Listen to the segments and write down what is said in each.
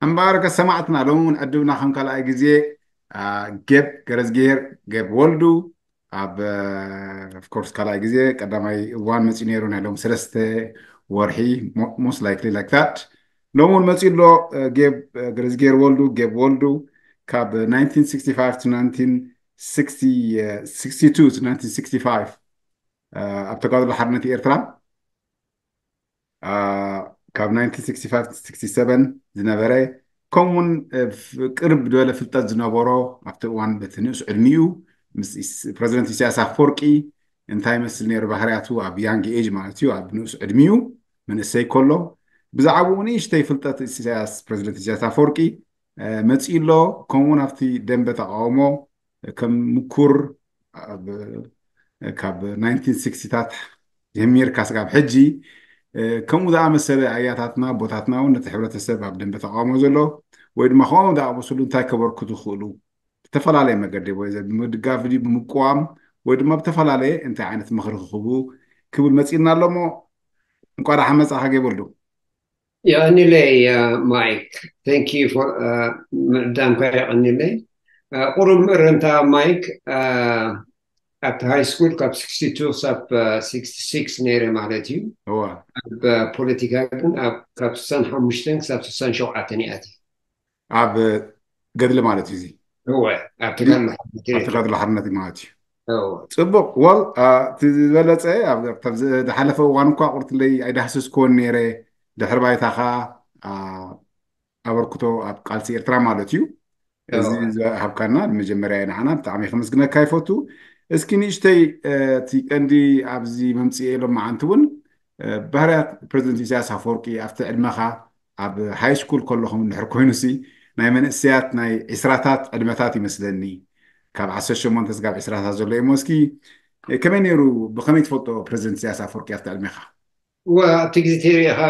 እምበኣርከ ሰማዕትና ሎም እውን ዕድብና ከም ካልኣይ ግዜ ጌብ ገረዝጌር ጌብ ወልዱ ኣብ ኦፍኮርስ ካልኣይ ግዜ ቀዳማይ እዋን መፅኡ ነይሩ ናይ ሎም ሰለስተ ወርሒ most likely like that። ሎም እውን መፅኡ ኣሎ። ጌብ ገረዝጌር ወልዱ ጌብ ወልዱ ካብ ስክስቲ ፋይቭ ኣብ ተጋድሎ ሓርነት ኤርትራ ካብ ስክስቲ ፋይቭ ስክስቲ ሰቨን ዝነበረ ከምኡውን ቅርብ ዝበለ ፍልጠት ዝነበሮ ኣብቲ እዋን በቲ ንእስ ዕድሚኡ ፕረዚደንት ኢሳያስ ኣፈወርቂ እንታይ መስል ነይሩ ባህርያቱ ኣብ ያንግ ኤጅ ማለት እዩ ኣብ ንእስ ዕድሚኡ መንእሰይ ከሎ ብዛዕባኡ ንእሽተይ ፍልጠት ኢሳያስ ፕረዚደንት ኢሳያስ ኣፈወርቂ መፂኡ ኣሎ። ከምኡውን ኣብቲ ደንበ ተቃውሞ ከም ምኩር ካብ ናይንቲን ሲክስቲታት ጀሚርካ ስጋብ ሕጂ ከምኡ ዝኣመሰለ ኣያታትና ኣቦታትና እውን ነቲ ሕብረተሰብ ኣብ ደንበ ተቃውሞ ዘሎ ወይ ድማ ከምኦም ዝኣመሰሉ እንታይ ከበርክቱ ይኽእሉ ብተፈላለየ መገዲ ወይ ብምድጋፍ ድዩ ብምቅዋም ወይ ድማ ብተፈላለየ እንታይ ዓይነት ምኽሪ ክህቡ ክብል መፂእና ኣሎ እሞ እንኳ ደሓን መፃኻ ጌበልዱ። የቐኒለይ ማይክ፣ thank you for ምዕዳምካ የቐኒለይ። ቁሩብ ምእረምታ ማይክ፣ ኣብቲ ሃይ ስኩል ካብ ስክስቲ ቱ ክሳብ ስክስቲ ሲክስ ነይረ ማለት እዩ። እዋ ኣብ ፖለቲካ ግን ኣብ ካብ ስሳን ሓሙሽተን ክሳብ ስሳን ሸውዓተን እየ ኣትየ። ኣብ ገድሊ ማለት እዩ እዚ እወ ኣብ ተጋድሎ ኣብ ተጋድሎ ሓርነት ማለት እዩ። እወ ፅቡቅ ወል እቲ ዝበለፀ ኣብ- ካብዚ ዝሓለፈ እዋን እኳ ቁርትለይ ኣይዳህሰስክዎን ነይረ ድሕሪ ባይታኻ ኣ- ኣበርክቶ ኣብ ቃልሲ ኤርትራ ማለት እዩ። እዚ እወ ዝሃብካና ንመጀመርያ ንዓና ብጣዕሚ ከመስግነካ ይፈቱ። እስኪ ንእሽተይ እ፣ እቲ ቀንዲ ኣብዚ መምፅኤ ሎም መዓንቲ እውን እ፣ ባህርያት ፕረዚደንት ኢሳያስ ኣፈወርቂ ኣብቲ ዕድመኻ ኣብ ሃይ ስኩል ከለኹም እንድሕር ኮይኑሲ ናይ መንእሰያት ናይ ዒስራታት ዕድመታት ይመስለኒ ካብ ዓሰርተ ሸሞንተ ስጋብ ዒስራታት ዘሎ እሞ እስኪ እ፣ ከመይ ነይሩ ብኸመይ ትፈልጦ ፕረዚደንት ኢሳያስ ኣፈወርቂ ኣብቲ ዕድሜኻ? ወ ኣብቲ ግዜ ተሪኢኻ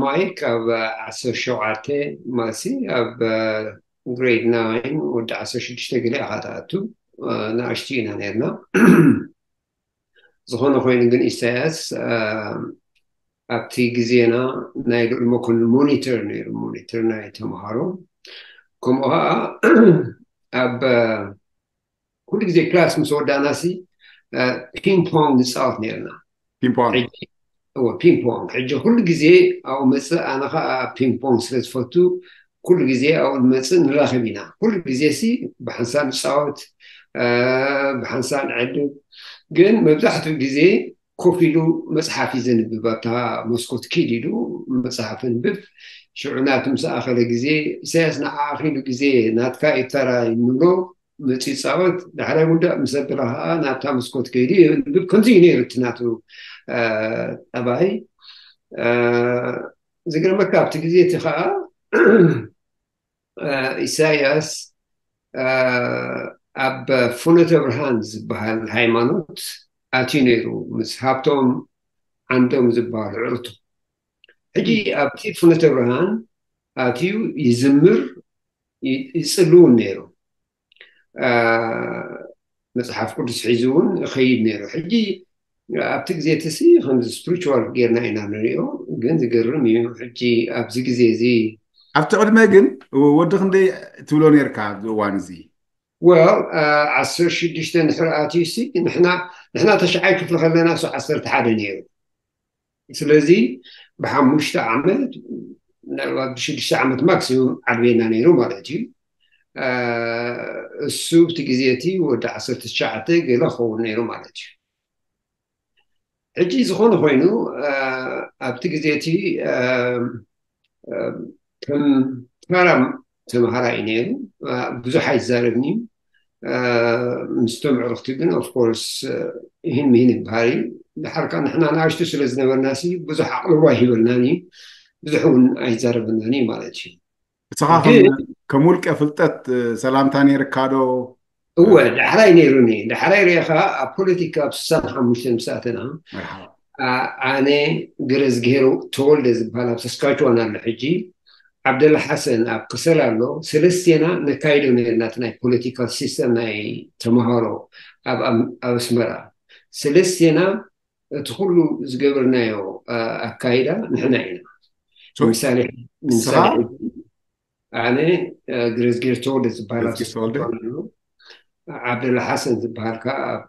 ማይክ ኣብ ዓሰርተ ሸውዓተ ማሲ ኣብ ግሬድ ናይን ወዲ ዓሰርተ ሽዱሽተ ገለ ኢኻ ትኣቱ ንኣሽቱ ኢና ነርና። ዝኾነ ኮይኑ ግን ኢሳያስ ኣብቲ ግዜና ናይ ልዑል መኮንን ሞኒተር ነይሩ፣ ሞኒተር ናይ ተምሃሮ። ከምኡ ከዓ ኣብ ኩሉ ግዜ ክላስ ምስ ወዳእና ሲ ፒንግ ፖንግ ንፃወት ነርና። ፒንግ ፖንግ ሕጂ እወ ፒንግ ፖንግ ሕጂ ኩሉ ግዜ ኣብኡ መፅእ፣ ኣነ ከዓ ፒንግ ፖንግ ስለ ዝፈቱ ኩሉ ግዜ ኣብኡ ንመፅእ ንራኸብ ኢና። ኩሉ ግዜ ሲ ብሓንሳብ ንፃወት፣ ብሓንሳብ ንዕልብ። ግን መብዛሕትኡ ግዜ ኮፍ ኢሉ መፅሓፍ እዩ ዘንብብ። ኣብታ መስኮት ኪድ ኢሉ መፅሓፍ ኣንብብ። ሽዑ ናቱ ምስ ኣኸለ ግዜ ኢሳያስ ንዓኣ ኪሉ ግዜ ናትካ እዩ ተራ ንብሎ መፂኡ ይፃወት። ዳሕራይ ውዳእ ምስ ኣበለ ከዓ ናብታ መስኮት ከይዱ የንብብ። ከምዚ እዩ ነይሩ እቲ ናቱ ጠባይ። ዝገርመካ ኣብቲ ግዜ እቲ ከዓ ኢሳያስ ኣብ ፍኖተ ብርሃን ዝበሃል ሃይማኖት ኣትዩ ነይሩ ምስ ሃብቶም ዓንዶም ዝበሃሉ ዕርቱ። ሕጂ ኣብቲ ፍኖተ ብርሃን ኣትዩ ይዝምር ይፅሊ እውን ነይሩ። መፅሓፍ ቅዱስ ሒዙ እውን ይኸይድ ነይሩ። ሕጂ ኣብቲ ግዜ እቲ ሲ ከምዚ ስፕሪቹዋል ጌርና ኢና ንሪኦ፣ ግን ዝገርም እዩ። ሕጂ ኣብዚ ግዜ እዚ ኣብቲ ቅድመ ግን ወዲ ክንደይ ትብሎ ነርካ ኣብዚ እዋን እዚ? ወል ዓሰርተ ሽዱሽተ ንድሕሪ ኣትዩ ሲ ንሕና ንሕና ተሽዓይ ክፍሊ ከለና እሱ ዓሰርተ ሓደ ነይሩ። ስለዚ ብሓሙሽተ ዓመት ምናልባት ብሽዱሽተ ዓመት ማክሲሙም ዓብየና ነይሩ ማለት እዩ። እሱ ብቲ ግዜ እቲ ወዲ ዓሰርተ ትሽዓተ ገለ ክኸውን ነይሩ ማለት እዩ። ሕጂ ዝኾነ ኮይኑ ኣብቲ ግዜ እቲ ከም ተራ ተምሃራይ ነይሩ። ብዙሕ ኣይዛረብን እዩ። ምስቶም ኣዕሩኽቲ ግን ኦፍኮርስ ይህን ምሂን ይበሃል እዩ። ድሓር ከዓ ንሕና ንኣሽቱ ስለ ዝነበርና ሲ ብዙሕ ኣቕልቦ ኣይሂበልናን እዩ። ብዙሕ እውን ኣይዛረበናን እዩ ማለት እዩ። እስኻ ከም ከም ውልቀ ፍልጠት ሰላምታ ነይርካ ዶ? እወ ዳሕራይ ነይሩኒ። ዳሕራይ ርኢኻ ኣብ ፖለቲካ ኣብ ስሳን ሓሙሽተን ምስ ኣተና መርሓባ ኣነ ገረዝግሄር ተወልደ ዝበሃል ኣብ ሳስካችዋን ኣሎ ሕጂ፣ ዓብደላ ሓሰን ኣብ ከሰል ኣሎ። ሰለስቴና ነካይዶ ነርና እቲ ናይ ፖለቲካል ሲስተም ናይ ተምሃሮ ኣብ ኣም- ኣብ ኣስመራ። ሰለስቴና እቲ ኩሉ ዝገበርናዮ ኣካይዳ ንሕና ኢና። So ምሳሌ ንስኻ ምሳሌ ኣነ ግረዝጌር ተወልደ ዝበሃል ኣብ ግረዝጌር ተወልደ። ሰፈር ኣሎ። ዓብደላ ሓሰን ዝበሃል ከዓ ኣብ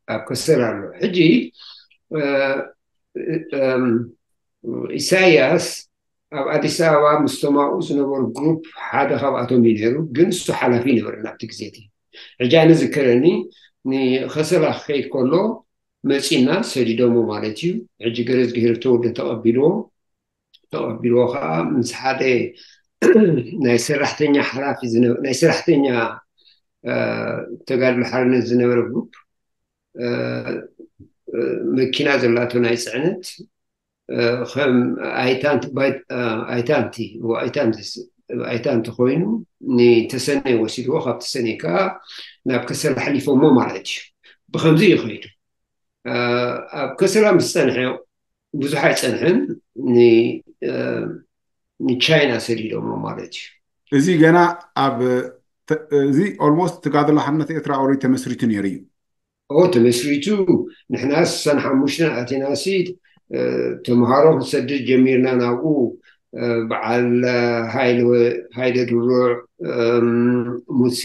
ኣብ ከሰል ኣሎ። ሕጂ ኢሳያስ ኣብ ኣዲስ ኣበባ ምስተማኡ ዝነበሩ ግሩፕ ሓደ ካብኣቶም እዩ ነይሩ። ግን እሱ ሓላፊ ይነበረ ናብቲ ግዜ እቲ። ሕጂ ኣነ ዝከረኒ ንኸሰላ ክኸይድ ከሎ መፂና ሰዲዶሞ ማለት እዩ። ሕጂ ገረዝጊሄር ተወልደ ተቐቢልዎ ተቐቢልዎ ከዓ ምስ ሓደ ናይ ሰራሕተኛ ሓላፊ ዝነ- ናይ ሰራሕተኛ ተጋድሎ ሓርነት ዝነበረ ግሩፕ መኪና ዘላቶ ናይ ፅዕነት ከም ኣይታንቲ ኣይታንቲ ኣይታንቲ ኮይኑ ንተሰነይ ወሲድዎ። ካብ ተሰነይ ከዓ ናብ ከሰላ ሓሊፎሞ ማለት እዩ። ብከምዚ እዩ ከይዱ። ኣብ ከሰላ ምስ ፀንሐ ብዙሕ ኣይፀንሐን ንቻይና ሰዲዶሞ ማለት እዩ። እዚ ገና ኣብ እዚ ኦልሞስት ተጋድሎ ሓርነት ኤርትራ ኦሪ ተመስሪቱ ነይሩ እዩ። ኦ ተመስሪቱ ንሕና ስሳን ሓሙሽተን ኣቴናሲ ተምሃሮ ክንሰድድ ጀሚርና ናብኡ በዓል ሃይለ ድሩዕ ሙሴ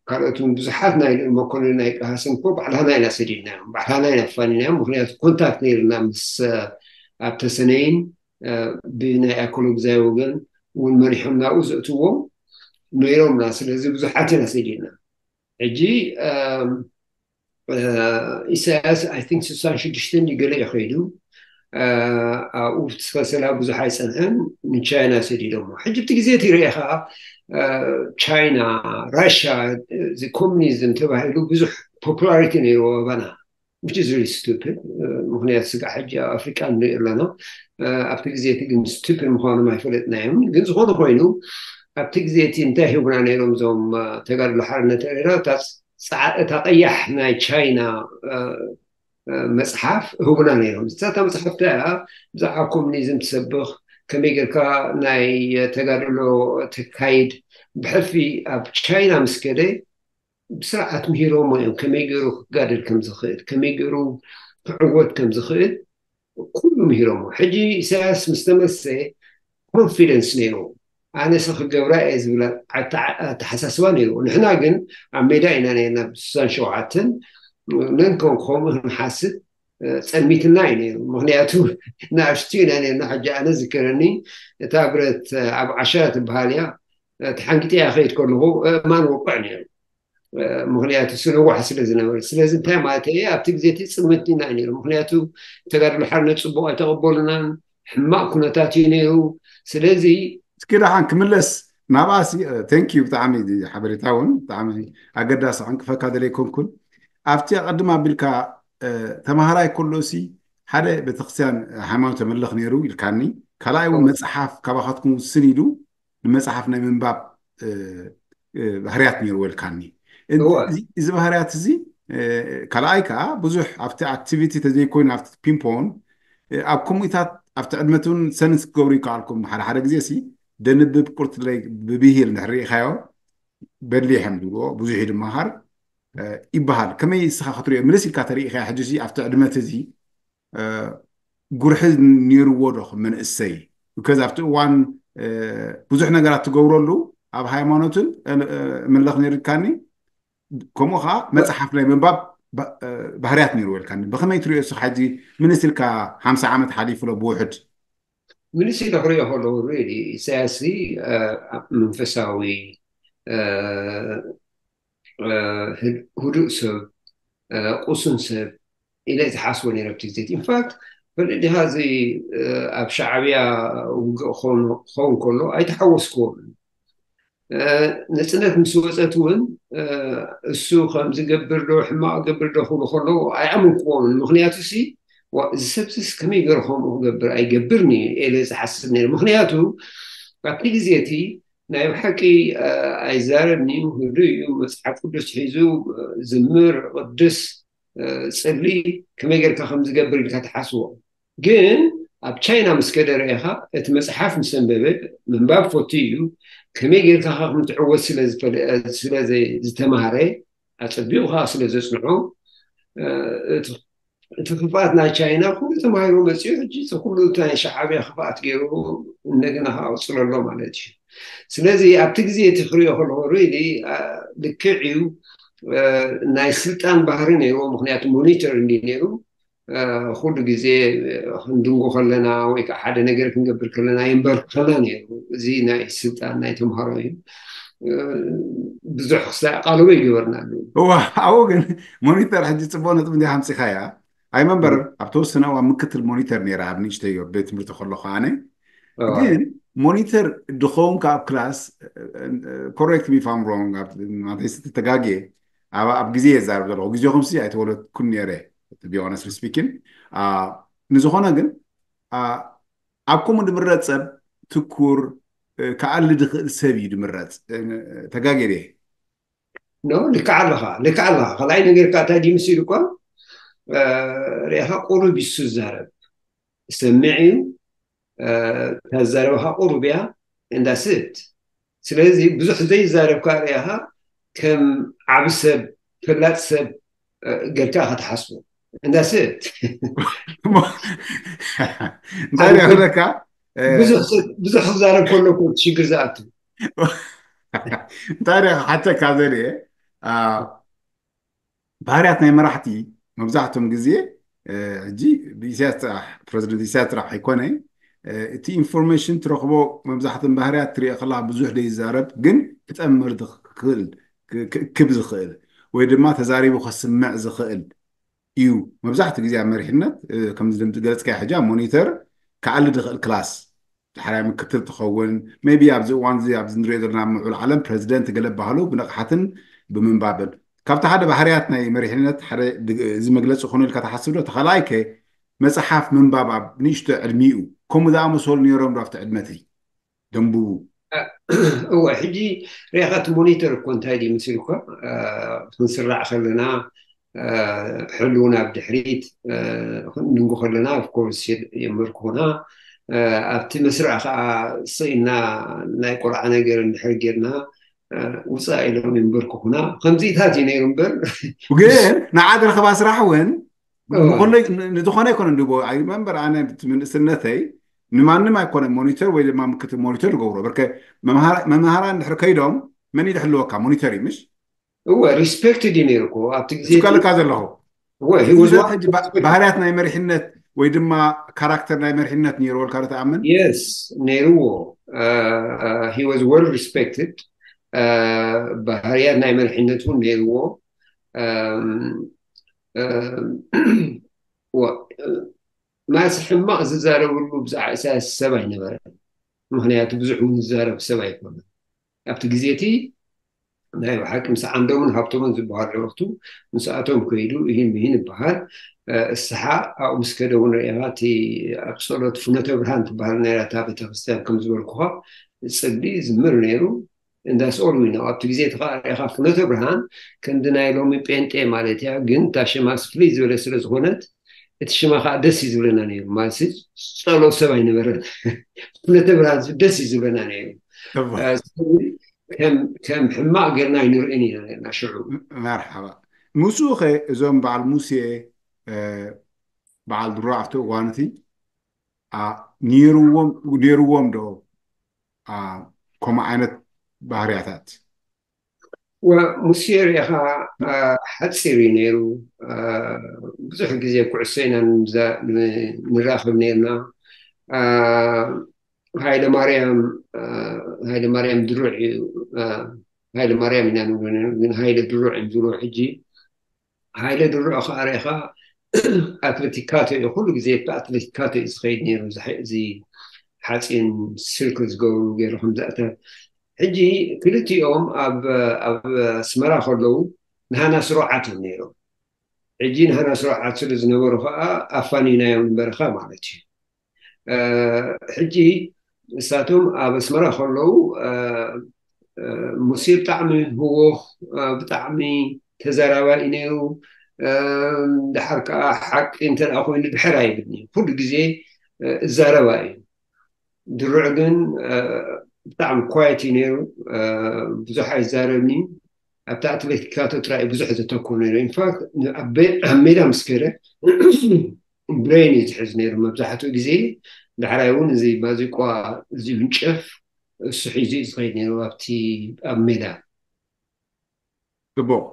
ካልኦትን ብዙሓት ናይ መኮንን ናይ ቀሃስን ኮ ባዕልሃና ኢና ሰዲድናዮም ባዕልሃና ኢና ኣፋኒናዮም። ምክንያቱ ኮንታክት ነይርና ምስ ኣብ ተሰነይን ብናይ ኣኮሎግዛይ ወገን እውን መሪሖም ናብኡ ዘእትዎም ነይሮምና። ስለዚ ብዙሓት ኢና ሰዲድና። ሕጂ ኢሳያስ ኣይ ቲንክ ስሳን ሽዱሽተን ገለ እዩ ከይዱ ኣብኡ ትኸሰላ ብዙሕ ኣይፀንሐን ንቻይና ሰዲዶሞ። ሕጂ ብቲ ግዜ እቲ ርኤ ከዓ ቻይና ራሽያ እዚ ኮሚኒዝም ተባሂሉ ብዙሕ ፖፑላሪቲ ነይርዎ ኣባና which is really stupid። ምክንያቱ ስጋዕ ሕጂ ኣብ ኣፍሪቃ ንሪኦ ኣለና። ኣብቲ ግዜ እቲ ግን ስቱፒድ ምኳኖም ኣይፈለጥናዮም። ግን ዝኾነ ኮይኑ ኣብቲ ግዜ እቲ እንታይ ሂቡና ነይሮም እዞም ተጋድሎ ሓርነት ኤርትራ እታ ቀያሕ ናይ ቻይና መፅሓፍ ህቡና ነይሮም። እዛ መፅሓፍ እያ ብዛዕባ ኮሚኒዝም ትሰብኽ ከመይ ጌርካ ናይ ተጋድሎ ተካይድ ብሕልፊ ኣብ ቻይና ምስ ከደ ብስርዓት ምሂሮሞ እዮም ከመይ ገይሩ ክጋደል ከም ዝኽእል ከመይ ገይሩ ክዕወት ከም ዝኽእል ኩሉ ምሂሮሞ። ሕጂ ኢሳያስ ምስ ተመሰ ኮንፊደንስ ነይሩ። ኣነሰ ክገብራ እየ ዝብል ኣተሓሳስባ ነይሩ። ንሕና ግን ኣብ ሜዳ ኢና ነርና ብስሳን ሸውዓተን ነንከውን ከምኡ ክንሓስብ ፀልሚትና እዩ ነይሩ። ምክንያቱ ንኣሽቱ ኢና ነርና። ሕጂ ኣነ ዝከረኒ እታ ብረት ኣብ ዓሸራ ትበሃል እያ ተሓንጊጠያ ከይድ ከለኹ እማን ወቅዕ ነይሩ። ምክንያቱ ስንዋሕ ስለ ዝነበረ። ስለዚ እንታይ ማለት እየ ኣብቲ ግዜ እቲ ፅልምትና እዩ ነይሩ። ምክንያቱ ተጋድሎ ሓርነት ፅቡቅ ኣይተቀበሉናን ሕማቅ ኩነታት እዩ ነይሩ። ስለዚ እስኪ ደሓን ክምለስ ናብኣ። ቴንክ ዩ ብጣዕሚ ሓበሬታ እውን ብጣዕሚ ኣገዳሲ ዕንቅፈካ ደለ ኣይኮንኩን። ኣብቲ ኣቀድም ኣቢልካ ተማሃራይ ከሎ ሲ ሓደ ቤተክርስትያን ሃይማኖት ተመልኽ ነይሩ ኢልካኒ። ካልኣይ እውን መፅሓፍ ካባካትኩም ውስን ኢሉ ንመፅሓፍ ናይ ምንባብ ባህርያት ነይርዎ ኢልካኒ። እዚ ባህርያት እዚ ካልኣይ ከዓ ብዙሕ ኣብቲ ኣክቲቪቲ ተዘይኮይኑ ኣብቲ ፒንፖን ኣብ ከምኡታት ኣብቲ ዕድመት እውን ሰንስ ክገብሩ ይከኣልኩም። ሓደ ሓደ ግዜ ሲ ደንብብ ቁርትለይ ብብሂል እንድሕር ርኢኻዮ በሊሕ እዮም ዝብልዎ ብዙሕ እዩ ድመሃር ይበሃል። ከመይ ንስኻ ክትሪኦ ምልስ ኢልካ ተሪኢኻዮ ሕጂ ሲ ኣብቲ ዕድመት እዚ ጉርሒ ነይርዎ ዶ ከም መንእሰይ? ከዚ ኣብቲ እዋን ብዙሕ ነገራት ትገብረሉ ኣብ ሃይማኖትን መለኽ ነይርካኒ ከምኡ ከዓ መፅሓፍ ናይ ምንባብ ባህርያት ነይርዎ ኢልካኒ። ብከመይ ትሪኦ ንስኻ ሕጂ ምንስ ኢልካ ሓምሳ ዓመት ሓሊፉ ሎ ብውሕድ? ምንስ ኢለ ክሪኦ ከለዉ ሪሊ ኢሳያስ መንፈሳዊ ህዱእ ሰብ ቁሱን ሰብ ኢለ ዝሓስቦ ነይረ ኣብቲ ግዜ። ኢንፋክት ፈለጥ ዲኻ እዚ ኣብ ሻዕብያ ውግእ ክኸውን ከሎ ኣይተሓወስክዎን። ነፅነት ምስ ወፀት እውን እሱ ከም ዝገብር ዶ ሕማቕ ገብር ዶ ክብሉ ከለዉ ኣይኣመንክዎምን። ምክንያቱ ሲ እዚ ሰብዚስ ከመይ ገይሩ ከምኡ ክገብር ኣይገብርን እዩ ኢለ ዝሓስብ ነይረ። ምክንያቱ ኣብቲ ግዜ እቲ ናይ ብሓቂ ኣይዛረብን እዩ፣ ህዱእ እዩ፣ መፅሓፍ ቅዱስ ሒዙ ዝምር፣ ቅድስ፣ ፅሊ ከመይ ጌርካ ከም ዝገብር ኢልካ ትሓስቦ። ግን ኣብ ቻይና ምስ ከደ ርኢኻ እቲ መፅሓፍ ምስ ኣንበበ ምንባብ ፈቱ እዩ። ከመይ ጌርካ ከም ትዕወት ስለ ዝተማሃረ ኣፀቢቑ ከዓ ስለ ዘፅንዖ እቲ ክፍኣት ናይ ቻይና ኩሉ ተማሂሩ መፂኡ። ሕጂ እቲ ኩሉ ናይ ሻዕብያ ክፍኣት ገይሩ እንደገና ከዓውፅሎ ኣሎ ማለት እዩ። ስለዚ ኣብቲ ግዜ እቲ ክሪኦ ከለኹ ሪሊ ልክዕ እዩ። ናይ ስልጣን ባህሪ ነይርዎ፣ ምክንያቱ ሞኒተር እንዲ ነይሩ። ኩሉ ግዜ ክንድንጉ ከለና ወይ ከዓ ሓደ ነገር ክንገብር ከለና የንበርክኸና ነይሩ። እዚ ናይ ስልጣን ናይ ተምሃሮ እዩ። ብዙሕ ክሳይ ኣቃልቦ ይገበርና ኣለዉ። እዋ ኣብኡ ግን ሞኒተር ሕጂ ፅቡቅ ነጥብ እንዲ ሓምፂኻያ። ኣይመንበር ኣብ ተወሰነ እዋን ምክትል ሞኒተር ነይረ ኣብ ንእሽተዮ ቤት ትምህርቲ ከለኹ ኣነ። ግን ሞኒተር ድኸውን ካብ ክላስ፣ ኮሬክት ሚ ፋም ሮንግ፣ ተጋጌ ኣብ ግዜ የዛርብ ዘለኹ፣ ግዜኹም ሲ ኣይተወለድኩን ነይረ። ቢሆነስ ስፒኪን ንዝኾነ ግን ኣብ ከምኡ ድምረፅ ሰብ ትኩር ክኣሊ ድኽእል ሰብ እዩ ድምረፅ። ተጋጌ ድየ? ኖ ልክዓ ኣለኻ፣ ልክዓ ኣለኻ። ካልኣይ ነገር ከዓ እንታይ ድዩ ምስ ኢሉ እኳ ርኢኻ ቁሩብ ይሱ ዝዛረብ ሰሚዕ እዩ። እታ ዝዛረበኻ ቁሩብ እያ እንዳስት። ስለዚ ብዙሕ ዘይዛረብ ከዓ ርኢኻ ከም ዓቢ ሰብ ፈላጥ ሰብ ጌርካ ኢኻ ትሓስቦ እንዳስት። እንታይ ሪኣ ክብለካ ብዙሕ ክዛረብ ከሎ እኮ ሽግር ዝኣቱ። እንታይ ሪኣ ሓተካ ዘርኢ ባህርያት ናይ መራሕቲ መብዛሕትኦም ግዜ ሕጂ ብኢሳያስ ጥራሕ ፕረዚደንት ኢሳያስ ጥራሕ ኣይኮነ እቲ ኢንፎርሜሽን ትረኽቦ መብዛሕትኦም ባህርያት ትሪኦ ከለካ ብዙሕ ዘይዛረብ ግን ክጠምር ዝኽእል ክእክብ ዝኽእል ወይ ድማ ተዛሪቡ ከስምዕ ዝኽእል እዩ። መብዛሕትኡ ግዜ ኣብ መሪሕነት ከምዚ ዝገለፅካዮ ሕጂ ኣብ ሞኒተር ክኣሊ ዝኽእል ክላስ ዳሕራይ ምክትል ትኸውን maybe ኣብዚ እዋን እዚ ኣብዚ ንሪኦ ዘለና ምዑል ዓለም ፕረዚደንት ገለ ባህሉ ብንቕሓትን ብምንባብን ካብቲ ሓደ ባህርያት ናይ መሪሕነት ሓደ እዚ መግለፂ ኮኑ ኢልካ ትሓስብ ዶ? ተኻልኣይ ከ መፅሓፍ ምንባብ ኣብ ንእሽቶ ዕድሚኡ ከምኡ ዝኣመሰሉ ነይሮም ዶ ኣብቲ ዕድመተይ ደንብቡ? እወ ሕጂ ሪኢኻ እቲ ሞኒተር እኮ እንታይ ድዩ ምስል እኮ ክንስራዕ ከለና ሕሉውን ኣብ ድሕሪት ክንድንጉ ከለና ኦፍኮርስ የንበርክኹና። ኣብቲ መስርዕ ከዓ ስኢና ናይ ቆልዓ ነገር እንድሕር ጌርና ውፃእ ኢሎም የንበርክኹና። ከምዚታት እዩ ነይሩ እምበር ግን ንዓድ ረኸባ ስራሕ እውን ንዝኾነ ይኮነ እንድቦ ኣይመንበር ኣነ ምንእስነተይ ንማንም ኣይኮነ ሞኒተር ወይ ድማ ምክትል ሞኒተር ዝገብሮ በርከ መምሃራ እንድሕር ከይዶም መን ይድሕልወካ ሞኒተር እዩ ምሽ እወ ሪስፔክትድ እዩ ነይሩ እኮ ኣብቲ ግዜ ስካልካ ዘለኹ እወ ባህርያት ናይ መሪሕነት ወይ ድማ ካራክተር ናይ መሪሕነት ነይርዎ ልካ ትኣምን የስ ነይርዎ he was well respected ባህርያት ናይ መሪሕነት እውን ነይርዎ ማስ ሕማቕ ዝዛረብሉ ብዛዕባ ኢሳያስ ሰብ ኣይነበረን ምክንያቱ ብዙሕ እውን ዝዛረብ ሰብ ኣይኮነን ኣብቲ ግዜ እቲ ናይ ብሓቂ ምስ ዓንዶምን ሃብቶምን ዝበሃሉ ዕረፍቱ ምስኣቶም ከይዱ ይህን ይህን ይበሃል እስሓ ኣብኡ ምስ ከደ እውን ርኢኻ እቲ ኣብ ጸሎት ፍኖተ ብርሃን ትበሃል ነይራ እታ ቤተክርስትያን ከም ዝበልኩኻ ጽሊ ዝምር ነይሩ እንዳስኦል ዊኖ ኣብቲ ግዜ እቲ ከዓ ርኢኻ ፍኖተ ብርሃን ከምዚ ናይ ሎሚ ጴንጤ ማለት እያ ግን እታ ሽማስ ፍልይ ዝበለ ስለ ዝኾነት እቲ ሽማ ከዓ ደስ እዩ ዝብለና ነይሩ ማለት ጸሎት ሰብ ኣይነበረን ፍኖተ ብርሃን ደስ እዩ ዝብለና ነይሩ ከም ሕማቕ ጌርና ኣይንርእን ኢና ነርና ሽዑ መርሓባ ምስኡ ኸ እዞም በዓል ሙሴ በዓል ድሮ ኣብቲ እዋን እቲ ነይርዎም ዶ ከምኡ ዓይነት ባህርያታት ሙሴ ርኢኻ ሓፂር እዩ ነይሩ ብዙሕ ግዜ ኩዕሶ ኢና ንራኸብ ነርና ሃይለ ማርያም ሃይለ ማርያም ድሩዕ እዩ ሃይለ ማርያም ኢና ንብሎ ግን ሃይለ ድሩዕ እዮም ዝብሎ ሕጂ ሃይለ ድሩዕ ከዓ ርኢኻ ኣትሌቲካቶ እዩ ኩሉ ግዜ ብኣትሌቲካቶ እዩ ዝኸይድ ነይሩ እዚ ሓፂን ስርክል ዝገብሩ ገይሩ ከምዝኣተ ሕጂ ክልቲኦም ኣብ ኣስመራ ከለዉ ንሃና ስሩዓት እዮም ነይሮም ሕጂ ንሃና ስሩዓት ስለ ዝነበሩ ከዓ ኣፋኒናዮም ንበረኻ ማለት እዩ ሕጂ ንሳቶም ኣብ ኣስመራ ከለዉ ሙሴ ብጣዕሚ ህወኽ ብጣዕሚ ተዘራባኢ ነይሩ ድሓር ከዓ ሓቂ እንተ ኮይኑ ድሕር ኣይብል ኩሉ ግዜ እዛረባ እዩ ድሩዕ ግን ብጣዕሚ ኳየት እዩ ነይሩ ብዙሕ ኣይዛረብኒ ኣብቲ ኣትሌቲካቶ ጥራይ ብዙሕ ዘተኮር ነይሩ ኢንፋክት ኣብ ሜዳ ምስ ከደ ብሬን እዩ ዝሕዝ ነይሩ መብዛሕትኡ ግዜ ዳሕራይ እውን እዚ ባዚቋ እዚ ብንጨፍ እሱ ሒዙ እዩ ዝኸይድ ነይሩ ኣብቲ ኣብ ሜዳ። ጽቡቕ።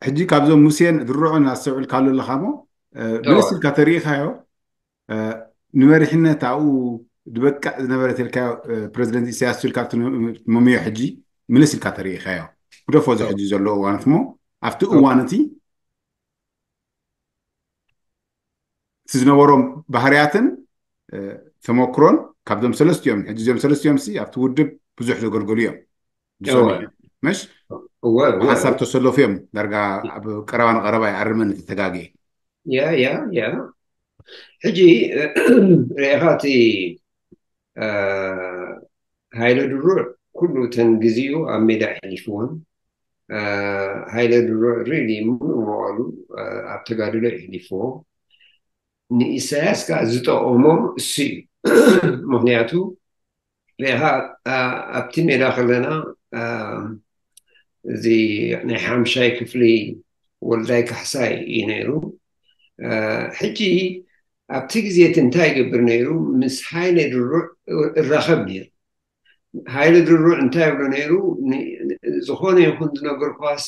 ሕጂ ካብዞም ሙሴን ድርዑን ኣስተውዕልካሉ ኣለኻ ሞ ምልስ ኢልካ ተሪኢኻዮ? ንመሪሕነት ኣብኡ ዝበቅዕ ዝነበረ ተልካዮ ፕረዚደንት ኢሳያስ ኢልካ ትመምዮ ሕጂ ምልስ ኢልካ ተሪኢኻዮ? ግደፎ እዚ ሕጂ ዘሎ እዋንት ሞ ኣብቲ እዋን እቲ እቲ ዝነበሮም ባህርያትን ተመክሮን ካብዞም ሰለስቲኦም ሕጂ እዚኦም ሰለስቲኦም ሲ ኣብቲ ውድብ ብዙሕ ዘገልገሉ እዮም። ዝሰምዑ እዮም። መሽ ብሓሳብ ተሰለፉ እዮም። ዳርጋ ኣብ ቀረባ ንቀረባ ይኣርመን ተተጋግየ ያ ያ ያ ሕጂ ርኢኻ እቲ ሃይለ ድሩዕ ኩሉ እተን ግዜኡ ኣብ ሜዳ ኣሕሊፍዎን ሃይለ ድሩዕ ሪሊ ሙሉእ መዋሉ ኣብ ተጋድሎ የሕሊፍዎ። ንኢሳያስ ከዓ ዝጠቐሞ እሱ እዩ። ምክንያቱ ርኢኻ ኣብቲ ሜዳ ከለና እዚ ናይ ሓምሻይ ክፍሊ ወልዳይ ካሕሳይ እዩ ነይሩ። ሕጂ ኣብቲ ግዜ እቲ እንታይ ይገብር ነይሩ? ምስ ሃይለ ድሩዕ እራኸብ ነይሩ። ሃይለ ድሩዕ እንታይ ይብሎ ነይሩ? ዝኾነ ይኹን ዝነገርኳሲ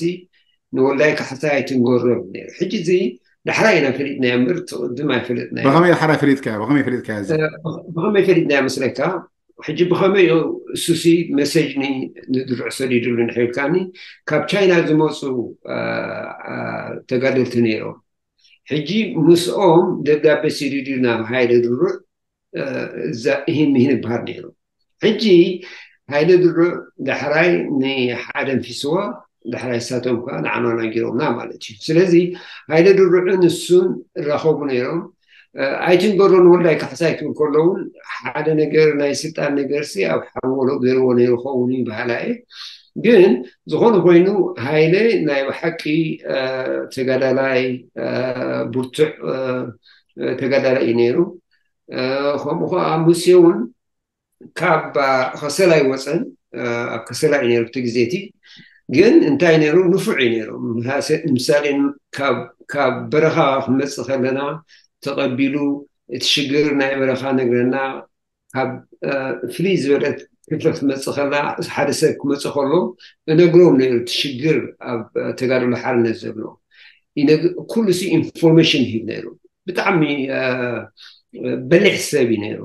ንወልዳይ ካሕሳይ ኣይትንገሮ ነይሩ። ሕጂ እዚ ዳሕራይ ኢና ፈሊጥናዮ እምበር እቲ ቅድም ኣይፈለጥናዮ። ብኸመይ ዳሕራይ ፈሊጥካዮ? ብኸመይ ፈሊጥካዮ? እዚ ብኸመይ ፈሊጥናዮ መስለካ? ሕጂ ብኸመይ እዩ እሱሲ መሴጅ ንድሩዕ ሰዲዱሉ ንሕብልካኒ ካብ ቻይና ዝመፁ ተጋደልቲ ነይሮም። ሕጂ ምስኦም ደብዳቤ ሲዲዱ ናብ ሃይለ ድሩዕ ይህን ምሂን ይበሃል ነይሩ። ሕጂ ሃይለ ድሩዕ ዳሕራይ ንሓደ ንፊስዋ ዳሕራይ ሳቶም ከዓ ንዓና ናጊሮምና ማለት እዩ። ስለዚ ሃይለ ድሩዕን እሱን እራኸቡ ነይሮም። ኣይትንገሮ ንወልዳይ ካሕሳይ ክብል ከሎ እውን ሓደ ነገር ናይ ስልጣን ነገር ሲ ኣብ ሓንጎሎ ገይርዎ ነይሩ ኸውን እዩ በሃላ እየ። ግን ዝኾነ ኮይኑ ሃይለ ናይ ብሓቂ ተጋዳላይ ብርቱዕ ተጋዳላይ እዩ ነይሩ። ከምኡ ከዓ ሙሴ እውን ካብ ከሰላ ይወፀን ኣብ ከሰላ እዩ ነይሩ እቲ ግዜ እቲ። ግን እንታይ ነይሩ? ንፉዕ እዩ ነይሩ። ምሳሌ ካብ በረኻ ክመፅእ ከለና ተቐቢሉ እቲ ሽግር ናይ በረኻ ነግረና። ካብ ፍልይ ዝበለት ክፍለ ክትመፅእ ከላ ሓደ ሰብ ክመፅእ ከሎ እነግሮም ነይሩ እቲ ሽግር ኣብ ተጋድሎ ሓርነት ዘሎ ኩሉ ሲ ኢንፎርሜሽን ይህብ ነይሩ። ብጣዕሚ በሊሕ ሰብ እዩ ነይሩ።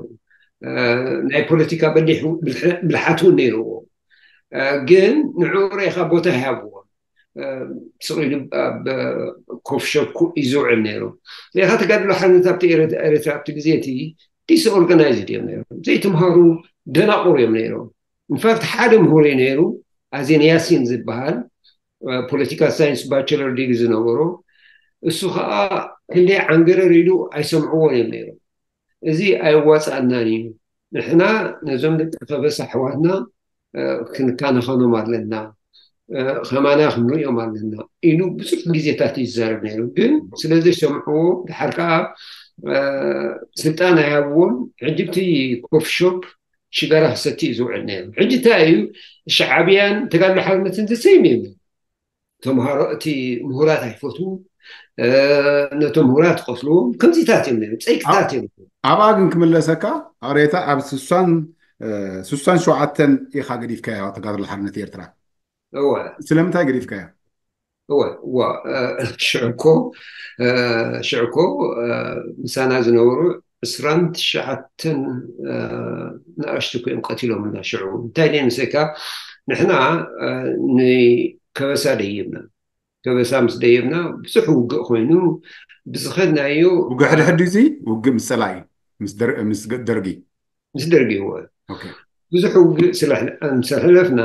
ናይ ፖለቲካ በሊሕ ብልሓት እውን ነይርዎ። ግን ንዕኡ ርኢኻ ቦታ ይሃብዎ። ስቕ ኢሉ ኣብ ኮፍ ሾፕ እዩ ዝውዕል ነይሩ። ርኢኻ ተጋድሎ ሓርነት ኣብቲ ኤርትራ ኣብቲ ግዜ እቲ ዲስኦርጋናይዝድ እዮም ነይሮም። ዘይተምሃሩ ደናቑር እዮም ነይሮም። ኢንፋክት ሓደ ምሁር እዩ ነይሩ ኣዜን ያሲን ዝበሃል ፖለቲካል ሳይንስ ባቸለር ዲግሪ ዝነበሮ እሱ ከዓ ክንደይ ዓንገረር ኢሉ ኣይሰምዕዎን እዮም ነይሮም። እዚ ኣይዋፃእናን እዩ። ንሕና ነዞም ደቂ ከበሳ ኣሕዋትና ክንካነኸኖም ኣለና፣ ከማና ክንሪኦም ኣለና ኢሉ ብዙሕ ግዜታት እዩ ዝዛረብ ነይሩ። ግን ስለዘይሰምዕዎ ድሓር ከዓ ስልጣን ኣይሃብዎን። ሕጂ እቲ ኮፊ ሾፕ ሽጋራ ክሰቲ እዩ ዝውዕል ነይሩ። ሕጂ እንታይ እዩ ሻዓብያን ተጋድሎ ሓርነትን ዘሰይም እዩ። ተምሃሮ እቲ ምሁራት ኣይፈትዉ፣ ነቶም ምሁራት ይቐትልዎም። ከምዚታት እዮም ነይሩ፣ ፀይቅታት እዮም። ኣብኣ ግን ክምለሰካ ኣሬታ ኣብ ስሳን ስሳን ሸውዓተን ኢኻ ገዲፍካያ ተጋድሎ ሓርነት ኤርትራ። እወ ስለምንታይ ገዲፍካያ? እወ እዋ ሽዕኮ ሽዕኮ ምሳና ዝነበሩ ዕስራን ትሽዓተን ንኣሽቱ ኮይም ቀቲሎምና። ሽዑ እንታይ ደይ ምሰካ ንሕና ንከበሳ ደይብና ከበሳ ምስ ደይብና ብዙሕ ውግእ ኮይኑ ብዝኸድናዮ ውግእ ሕድሕድ እዚ ውግእ ምስ ፀላኢ ምስ ደርጊ ምስ ደርጊ እወ ብዙሕ ውግእ ስለሕለፍና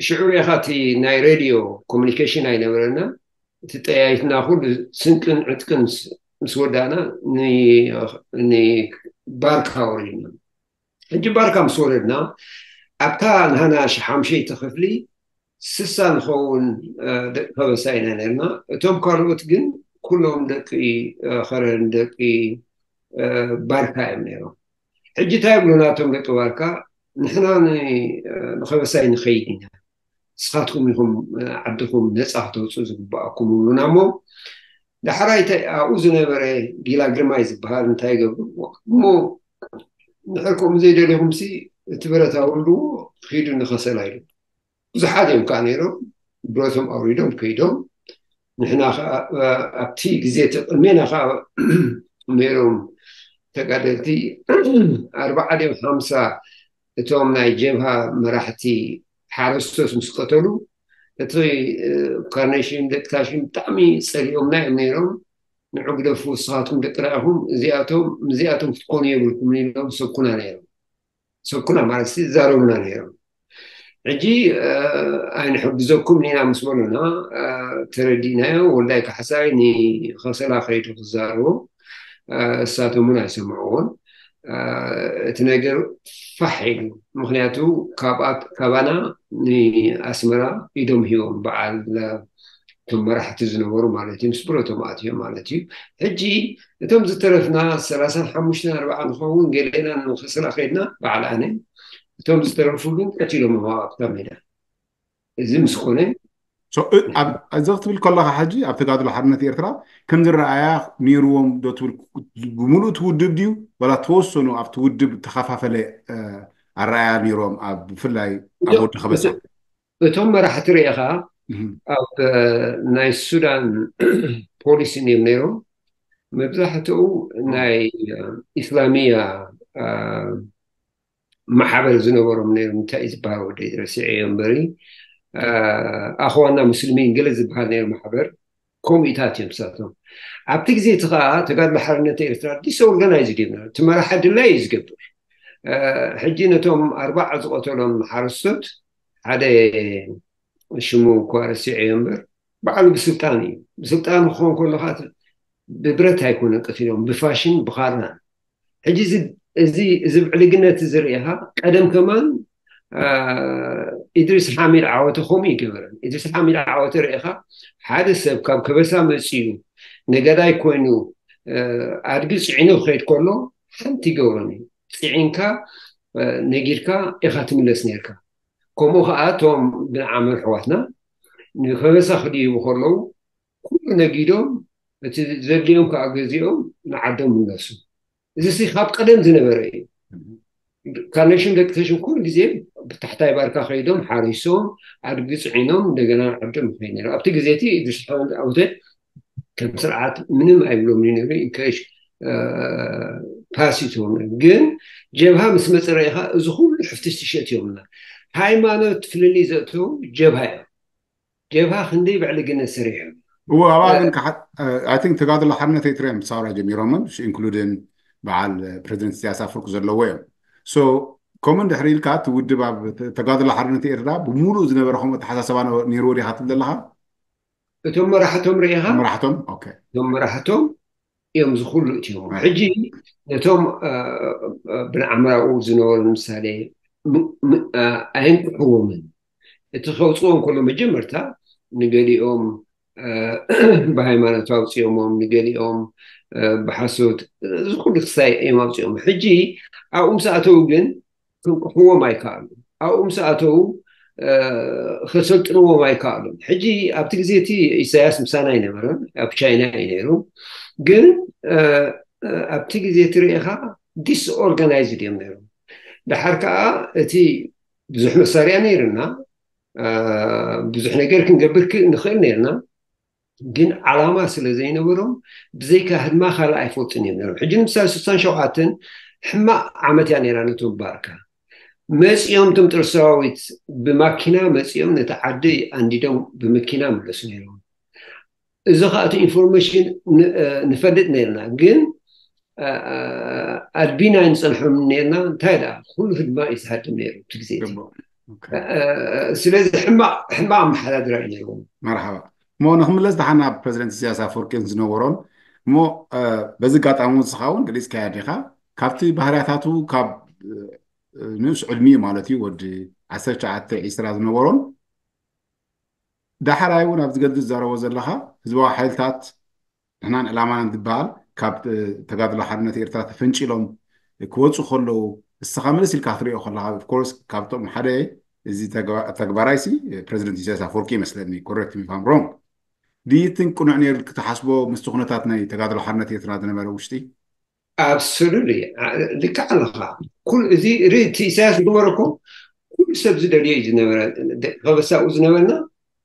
ሽዑ ሪኢኻ እቲ ናይ ሬድዮ ኮሚኒኬሽን ኣይነበረና። እቲ ጠያይትና ኩሉ ስንቅን ዕጥቅን ምስ ወዳእና ንባርካ ወሪድና። ሕጂ ባርካ ምስ ወረድና ኣብታ ንሃና ሓምሸይቲ ክፍሊ ስሳ ንኸውን ደቂ ከበሳ ኢና ነርና። እቶም ካልኦት ግን ኩሎም ደቂ ከረን ደቂ ባርካ እዮም ነይሮም። ሕጂ እንታይ ይብሉና እቶም ደቂ ባርካ? ንሕና ንኸበሳይ ንኸይድ ኢና፣ ንስኻትኩም ኢኹም ዓድኹም ነፃ ክተውፅኡ ዝግባኣኩም ይብሉና። እሞ ዳሕራይ ኣብኡ ዝነበረ ጊላ ግርማይ ዝበሃል እንታይ ይገብሩ እሞ ንሕር ከምኡ ዘይደልኹምሲ እቲ ብረት ኣውርድዎ፣ ኺዱ ንኸሰላ ኢሉ። ብዙሓት እዮም ከዓ ነይሮም፣ ብረቶም ኣውሪዶም ከይዶም። ንሕና ከዓ ኣብቲ ግዜ ተቐሜና ከዓ ነይሮም ተጋደልቲ ኣርባዓ ድዮም ሓምሳ እቶም ናይ ጀብሃ መራሕቲ ሓረስቶት ምስ ቀተሉ፣ እቲ ካርኔሽን ደቂ ታሽን ብጣዕሚ ጸሊኦምና እዮም ነይሮም። ንዑ ግደፉ፣ ንስኻትኩም ደቅና ኢኹም፣ እዚኣቶም ምስዚኣቶም ክትኮኑ የብልኩም ኢሎም ሰኩና ነይሮም። ሰኩና ማለት ይዛረቡና ነይሮም። ሕጂ ኣይንሕግዘኩም ኢና ምስ በሉና ተረዲእናዮ። ወልዳይ ካሕሳይ ንኸሰላ ከይዱ ክዛረቦ፣ እሳቶም እውን ኣይሰምዕዎን። እቲ ነገር ፋሕ ኢሉ፣ ምክንያቱ ካባና ንኣስመራ ኢዶም ሂቦም፣ በዓል እቶም መራሕቲ ዝነበሩ ማለት እዩ፣ ምስ ብረቶም ኣትዮም ማለት እዩ። ሕጂ እቶም ዝተረፍና ሰላሳን ሓሙሽተን ኣርባዓ ንኸውን፣ ገሌና ንኸስላ ከይድና በዓል ኣነ፣ እቶም ዝተረፉ ግን ቀቲሎም ኣብታ ሜዳ። እዚ ምስ ኮነ እዚ ክትብል ከለካ ሕጂ ኣብ ተጋድሎ ሓርነት ኤርትራ ከም ዝረኣያ ነይርዎም ዶ ትብል? ብምሉእ እቲ ውድብ ድዩ ዋላ ተወሰኑ ኣብቲ ውድብ ተኸፋፈለ ኣረኣያ ነይሮም? ኣብ ብፍላይ ኣብ ወዲ ከበሳ እቶም መራሕቲ ርኢኻ ኣብ ናይ ሱዳን ፖሊሲ እዮም ነይሮም። መብዛሕትኡ ናይ ኢስላሚያ ማሕበር ዝነበሮም ነይሮም። እንታይ እዩ ዝበሃል ወደይ ረሲዐዮ እምበሪ፣ ኣኽዋና ሙስሊሚን ገለ ዝበሃል ነይሩ ማሕበር። ከምኡታት እዮም ንሳቶም። ኣብቲ ግዜ እቲ ከዓ ተጋድሎ ሓርነት ኤርትራ ዲስኦርጋናይዝድ እዮም ነይሮም። እቲ መራሒ ድላይ እዩ ዝገብር። ሕጂ ነቶም ኣርባዓ ዝቐተሎም ሓረስቶት ሓደ ሽሙ እኳ ረሲዐዮ እምበር ባዕሉ ብስልጣን እዩ። ብስልጣን ክኸውን ከሎ ከዓ ብብረት ኣይኮነን ቀቲሎም፣ ብፋሽን ብኻራን። ሕጂ እዚ ብዕልግነት እዚ ርኢኻ ቀደም ከማን ኢድሪስ ሓሚድ ዓወተ ከምኡ ይገበረን። ኢድሪስ ሓሚድ ዓወተ ርኢኻ ሓደ ሰብ ካብ ከበሳ መፅዩ ነጋዳይ ኮይኑ ኣድጊ ፅዒኑ ክኸይድ ከሎ ሓንቲ ይገብሮን እዩ። ፅዒንካ ነጊድካ ኢኻ ትምለስ ነርካ። ከምኡ ከዓ እቶም ብንዓመር ኣሕዋትና ንከበሳ ክድይቡ ከለዉ ኩሉ ነጊዶም እቲ ዘድልዮም ከዓ ገዚኦም ንዓዶም ምለሱ። እዚ ሲ ካብ ቀደም ዝነበረ እዩ። ካርኔሽን ደቂ ተሽን ኩሉ ግዜ ብታሕታይ ባርካ ከይዶም ሓሪሶም ኣድጊ ፅዒኖም እንደገና ንዓዶም ይኸይድ ነይሩ። ኣብቲ ግዜ እቲ ኢድሪስ ሓሚድ ዓወተ ከም ስርዓት ምንም ኣይብሎም ነይሩ። ኢንከሽ ፓሲቶም ግን ጀብሃ ምስ መፀ ርኢኻ እዚ ኩሉ ሕፍትሽ ትሸት እዮምና። ሃይማኖት ፍልልይ ዘእተው ጀብሃ እዮም። ጀብሃ ክንደይ ብዕልግነት ሰሪሑ። እዎ ኣብኣ ግን I think ተጋድሎ ሓርነት ኤርትራ እዮም ሳውራ ጀሚሮምን ኢንክሉድን በዓል ፕሬዚደንት ኢሳያስ ኣፈወርቂ ዘለዎ እዮም። ሶ ከምኡ እንድሕር ኢልካ እቲ ውድብ ኣብ ተጋድሎ ሓርነት ኤርትራ ብምሉእ ዝነበረ ከምኡ ኣተሓሳሰባ ነይርዎ ዲኻ ትብል ዘለኻ? እቶም መራሕቶም ርኢኻ መራሕቶም እቶም መራሕቶም እዮም ዝኩሉ እትዮም። ሕጂ ነቶም ብንዓምራኡ ዝነበሩ ምሳሌ ኣየንቅሕዎምን። እቲ ከውፅዎም ከሎ መጀመርታ ንገሊኦም ብሃይማኖት ኣውፅኦሞም፣ ንገሊኦም ብሓሶት፣ እዚ ኩሉ ክሳይ እዮም ኣውፅኦም። ሕጂ ኣብኡ ምስ ኣተዉ ግን ክንቅሕዎም ኣይከኣሉ። ኣብኡ ምስ ኣተዉ ከሰልጥንዎም ኣይከኣሉን። ሕጂ ኣብቲ ግዜ እቲ ኢሳያስ ምሳና ኣይነበረን፣ ኣብ ቻይና እዩ ነይሩ። ግን ኣብቲ ግዜ እቲ ርኢኻ ዲስኦርጋናይዝድ እዮም ነይሮም። ድሓር ከዓ እቲ ብዙሕ መሳርያ ነይርና፣ ብዙሕ ነገር ክንገብር ንኽእል ነይርና። ግን ዓላማ ስለ ዘይነበሮም ብዘይካ ህድማ ካልእ ኣይፈልጡን እዮም ነይሮም። ሕጂ ንምሳሌ ስሳን ሸውዓተን ሕማቕ ዓመት እያ ነይራ ነቶም ባርካ። መፂኦም እቶም ጥር ሰራዊት ብማኪና መፂኦም ነቲ ዓዲ ኣንዲዶም ብመኪና መለሱ ነይሮም። እዚ ከዓ እቲ ኢንፎርሜሽን ንፈልጥ ነይርና፣ ግን ኣድቢና ንፀንሖም ነርና። እንታይ ደኣ ኩሉ ህድማ እዩ ዝሃድም ነይሩ እቲ ግዜ እቲ። ስለዚ ሕማቕ ኣመሓዳድራ እዩ ነይርዎም። መርሓባ። እሞ ንክምለስ ደሓን ናብ ፕረዚደንት ኢሳያስ ኣፈወርቂን ዝነበሮን እሞ በዚ ኣጋጣሚ እውን ንስኻ እውን ገሊፅካዮ ዲኻ ካብቲ ባህርያታቱ ካብ ንኡስ ዕድሚኡ ማለት እዩ ወዲ ዓሰርተ ትሽዓተ ዒስራ ዝነበሮን ዳሕራይ እውን ኣብዚ ገድሊ ትዛረቦ ዘለኻ ህዝባዊ ሓይልታት ንሕናን ዕላማናን ዝበሃል ካብ ተጋድሎ ሓርነት ኤርትራ ተፈንጪሎም ክወፁ ከለዉ እስኻ ምልስ ኢልካ ክትሪኦ ከለኻ ኦፍኮርስ ካብቶም ሓደ እዚ ተግባራይሲ ፕረዚደንት ኢሳያስ ኣፈወርቂ ይመስለኒ ኮረክት ሚ ፋም ሮንግ ድይትን ቅኑዕ ነይሩ ክትሓስቦ ምስቲ ኩነታት ናይ ተጋድሎ ሓርነት ኤርትራ ዝነበረ ውሽጢ ኣብሶሉትሊ፣ ልክዕ ኣለኻ። ኩሉ እዚ ርኢ፣ እቲ ኢሳያስ ዝገበሮ እኮ ኩሉ ሰብ ዝደልዮ እዩ ዝነበረ። ደቂ ከበሳ ኣብኡ ዝነበርና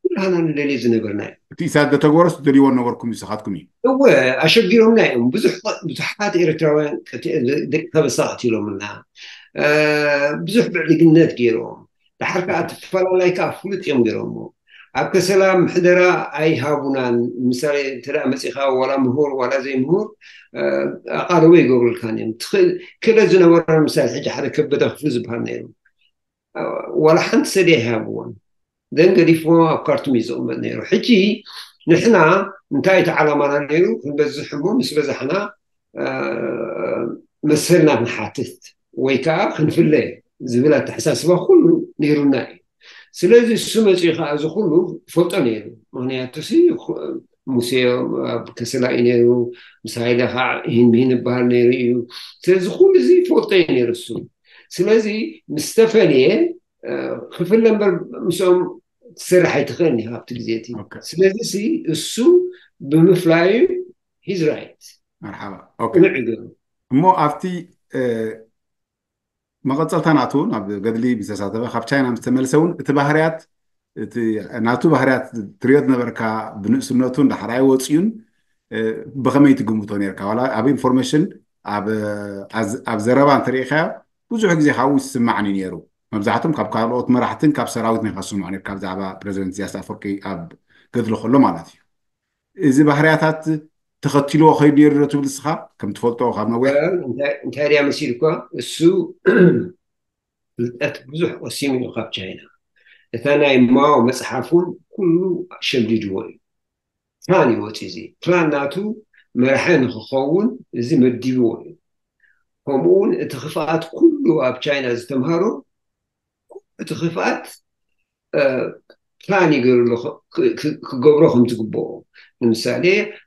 ኩላህና ንደልዮ ዝነበርና እዩ። እቲ ኢሳያስ ዘተግበሮስ ትደልይዎ ነበርኩም ንስኻትኩም እዩ። እወ፣ ኣሸጊሮምና እዮም። ብዙሕ ብዙሓት ኤርትራውያን ቀቲ-፣ ደቂ ከበሳ ቀቲሎምና። እ፣ ብዙሕ ብዕልግነት ገይሮም። ድሓር ከዓ እቲ ፈላላይ ከዓ ፍሉጥ እዮም ገይሮምዎ። ኣብ ከሰላ ምሕደራ ኣይሃቡናን። ምሳሌ እንተ ደኣ መጺኻ ዋላ ምሁር ዋላ ዘይምሁር፣ እ፣ ኣቓልቦ ይገብሩልካን እዮም። ትኽእል-፣ ክእለት ዝነበሮም ምሳሌ ሕጂ ሓደ ከበደ ክፍሉ ዝበሃል ነይሩ። እ፣ ዋላ ሓንቲ ሰዲ ኣይሃብዎን። ደን ገዲፍዎ ኣብ ካርቱም እዩ ዝቕመጥ ነይሩ። ሕጂ ንሕና እንታይ እቲ ዓላማና ነይሩ? ክንበዝሕ እሞ ምስ በዛሕና፣ እ፣ መሰልና ክንሓትት ወይ ከዓ ክንፍለ ዝብል ኣተሓሳስባ ኩሉ ነይሩና እዩ። ስለዚ እሱ መፂኡ ከዓ እዚ ኩሉ ፈልጦ ነይሩ። ምክንያቱ ሲ፣ ኹ-፣ ሙሴ ኣብ ከሰላ እዩ ነይሩ፣ ምስ ሃይለ ከዓ ይህን ምሂን ይበሃል ነይሩ እዩ። ስለዚ ኩሉ እዚ ፈልጦ እዩ ነይሩ እሱ። ስለዚ ምስ ተፈልየ፣ እ፣ ክፍለ እምበር ምስኦም ትሰርሕ ኣይትኽእልን ኢኻ ኣብቲ ግዜ እቲ። ኦኬ። ስለዚ ሲ እሱ ብምፍላዩ he's right። መርሓባ። ኦኬ። ቅኑዕ እዩ ገይሩ። እሞ ኣብቲ፣ እ፣ መቐጸልታ ናቱ ናብ ገድሊ ምስ ተሳተፈ ካብ ቻይና ምስ ተመልሰ እውን እቲ ባህርያት፣ እቲ ናቱ ባህርያት ትሪኦ ዝነበርካ ብንእስነቱ እንዳሕራይ ወፂኡን፣ እ፣ ብኸመይ ትግምቶ ነርካ? ዋላ ኣብ ኢንፎርሜሽን፣ ኣብ፣ ኣብ፣ ኣብ ዘረባ እንተሪኢኻዮ ብዙሕ ግዜ ካብኡ ዝስማዕኒ ነይሩ። መብዛሕትኦም ካብ ካልኦት መራሕትን ካብ ሰራዊት ናይ ካስምዖ ነርካ ብዛዕባ ፕረዚደንት ኢሳያስ ኣፈወርቂ ኣብ ገድሊ ከሎ ማለት እዩ። እዚ ባህርያታት ተኸቲልዎ ከይዱ ነይሩ ዶ ትብል ንስኻ ከም ትፈልጦ ካብ ነዊሕ? እንታይ እንታይ ድያ መሲልኳ? እሱ ፍልጠት ብዙሕ ቀሲሙ እዩ ካብ ቻይና። እታ ናይ ማኦ መጽሓፍ እውን ኩሉ ሸምዲድዎ እዩ። ፕላን እዩ ወፂኡ። እዚ ፕላን ናቱ መራሒ ንክኸውን እዚ መዲብዎ እዩ። ከምኡ እውን እቲ ክፍኣት ኩሉ ኣብ ቻይና ዝተምሃሮ እቲ ክፍኣት፣ እ፣ ፕላን ይገብርሉ ክ-፣ ክ-፣ ክገብሮ ከም ዝግብኦ። ንምሳሌ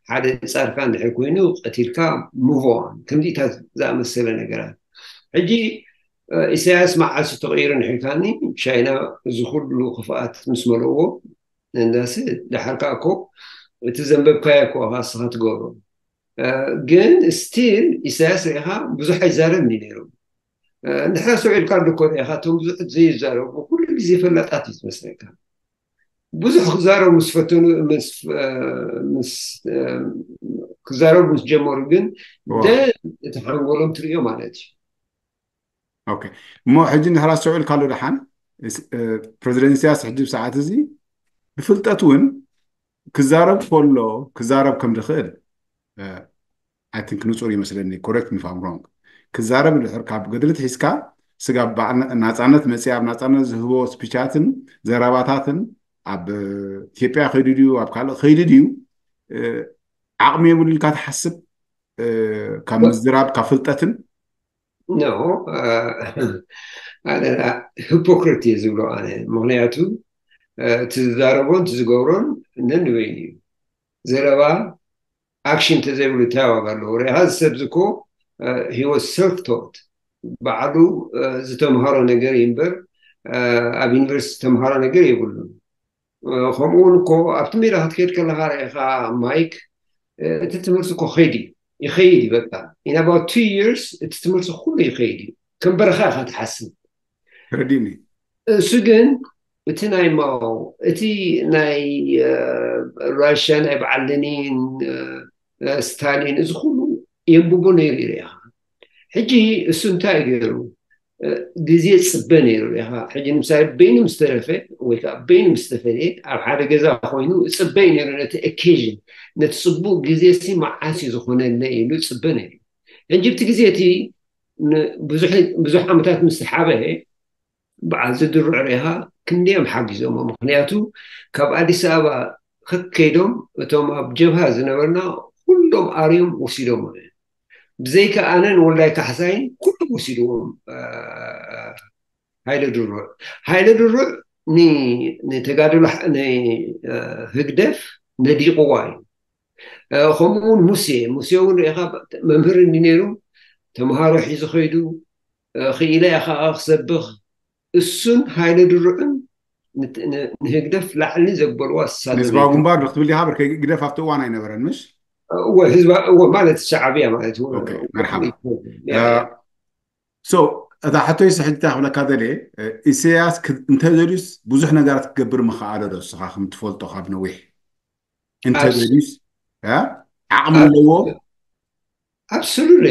ሓደ ጻድቃን እንድሕር ኮይኑ ቀቲልካ ሙቭ ኦን፣ ከምዚታት ዝኣመሰለ ነገራት። ሕጂ፣ እ፣ ኢሳያስ መዓስ ተቐይሩ እንድሕር ኢልካኒ፣ ቻይና እዚ ኩሉ ክፍኣት ምስ መለዎ፣ እንዳሲ ድሓር ከዓ እኮ እቲ ዘንበብካዮ እኮ ኢኻ እስኻ ትገብሮ። እ፣ ግን ስቲል ኢሳያስ ርኢኻ ብዙሕ ኣይዛረብን እዩ ነይሩ። እ፣ እንድሕር ኣስተውዒልካ ኣሎ እኮ ርኢኻ፣ እቶም ብዙሕ ዘይዛረቡ ኩሉ ግዜ ፈላጣት እዩ ዝመስለካ። ብዙሕ ክዛረቡ ምስ ፈተኑ፣ ምስ፣ እ፣ ምስ፣ እ፣ ክዛረቡ ምስ ጀመሩ ግን ዋው። ደ-፣ እቲ ሓንጎሎም ትርእዮ ማለት እዩ። ኦኬ። እሞ ሕጂ እንድሕር ኣስተውዒልካ ኣሎ ደሓን፣ እስ-፣ እ፣ ፕረዚደንት ኢሳያስ ሕጂ ብሰዓት እዚ ብፍልጠት እውን ክዛረብ ከሎ ክዛረብ ከም ዝኽእል፣ እ፣ I think ንጹር ይመስለኒ፣ correct me if I'm wrong። ክዛረብ እንድሕር ካብ ገድሊ ትሒዝካ ስጋብ በዓል ና-፣ ናጻነት መጽእ ኣብ ናጻነት ዝህቦ ስፒቻትን ዘረባታትን ኣብ ኢትዮጵያ ከይዱ ድዩ ኣብ ካልእ ከይዱ ድዩ፣ እ፣ ዓቕሚ የብሉ ኢልካ ትሓስብ? እ፣ ካብ ምዝራብ ካብ ፍልጠትን ኖ፣ እ፣ ኣነ ሂፖክሪት እየ ዝብሎ ኣነ። ምክንያቱ፣ እ፣ እቲ ዝዛረቦን እቲ ዝገብሮን ነንበይኑ እዩ። ዘረባ ኣክሽን እንተዘይብሉ እንታይ ዋጋ ኣለዎ? ርኢኻ፣ እዚ ሰብ እዚ እኮ፣ እ፣ he was self taught፣ ባዕሉ፣ እ፣ ዝተምሃሮ ነገር እዩ እምበር፣ እ፣ ኣብ ዩኒቨርሲቲ ዝተምሃሮ ነገር የብሉን። እ፣ ከምኡ እውን እኮ ኣብቲ ሜዳ ክትከይድ ከለኻ ርኢኻ ማይክ፣ እ፣ እቲ ትምህርቲ እኮ ከይድ እዩ፣ ይኸይድ እዩ። በቃ in about two years እቲ ትምህርቲ ኩሉ ይኸይድ እዩ። ከም በረኻ ኢኻ ትሓስብ። ተረዲኒ። እሱ ግን እቲ ናይ ማኦ፣ እቲ ናይ፣ እ፣ ራሽያ ናይ በዓል ለኒን፣ እ፣ እ፣ ስታሊን፣ እዚ ኩሉ የንብቦ ነይሩ እዩ ርኢኻ። ሕጂ እሱ እንታይ እዩ ገይሩ? እ፣ ግዜ ጽበ ነይሩ ርኢኻ። ሕጂ ንምሳሌ በይኑ ምስ ተረፈ ወይ ከዓ በይኑ ምስ ተፈልየ ኣብ ሓደ ገዛ ኮይኑ ጽበ እዩ ነይሩ ነቲ ኦኬዥን፣ ነቲ ጽቡቕ ግዜ ሲ መዓስ እዩ ዝኾነለይ ኢሉ ጽበ ነይሩ። ሕጂ ኣብቲ ግዜ እቲ ን-፣ ብዙሕ፣ ብዙሕ ዓመታት ምስ ሓበ በዓል ዝድርዑ ርኢኻ ክንደዮም ሓጊዞሞ። ምክንያቱ ካብ ኣዲስ ኣበባ ከከይዶም እቶም ኣብ ጀብሃ ዝነበርና ኩሎም ኣርዮም ወሲዶሞ። ብዘይካ ኣነን ወልዳይ ካሕሳይን ኩሎም ወሲድዎም፣ እ፣ ሃይለ ድሩዕ። ሃይለ ድሩዕ ን-፣ ንተጋድሎ ሕ-፣ ን-፣ እ፣ ህግደፍ ነዲቕዋ እዩ። እ፣ ከምኡ እውን ሙሴ፣ ሙሴ እውን ርኢኻ መምህር እንዲ ነይሩ፣ ተምሃሮ ሒዙ ከይዱ፣ እ፣ ክኢለ እየ ከዓ ክሰብኽ። እሱን ሃይለ ድሩዕን ንት-፣ ን-፣ ንህግደፍ ላዕሊ ዘበልዋ ዝሳደቡ ንህዝባዊ እዮም። ግንባር ዶ ክትብል ዲኻ? ብርከይ ግደፍ ኣብቲ እዋን ኣይነበረን፣ ምሽ? እወ ህዝባ እወ ማለት ሻዕብያ ማለት እዩ። ኦኬ፣ መርሓባ። ሶ እታ ሕቶይስ ሕጂ እንታይ ክብለካ ደልየ፣ ኢሳያስ ክ- እንተደልዩስ ብዙሕ ነገራት ክገብር ምኽኣለ ዶ? እስኻ ከም ትፈልጦ ካብ ነዊሕ እንተደልዩስ እ? ዓቕሚ ኣለዎ? ኣብሶሉትሊ።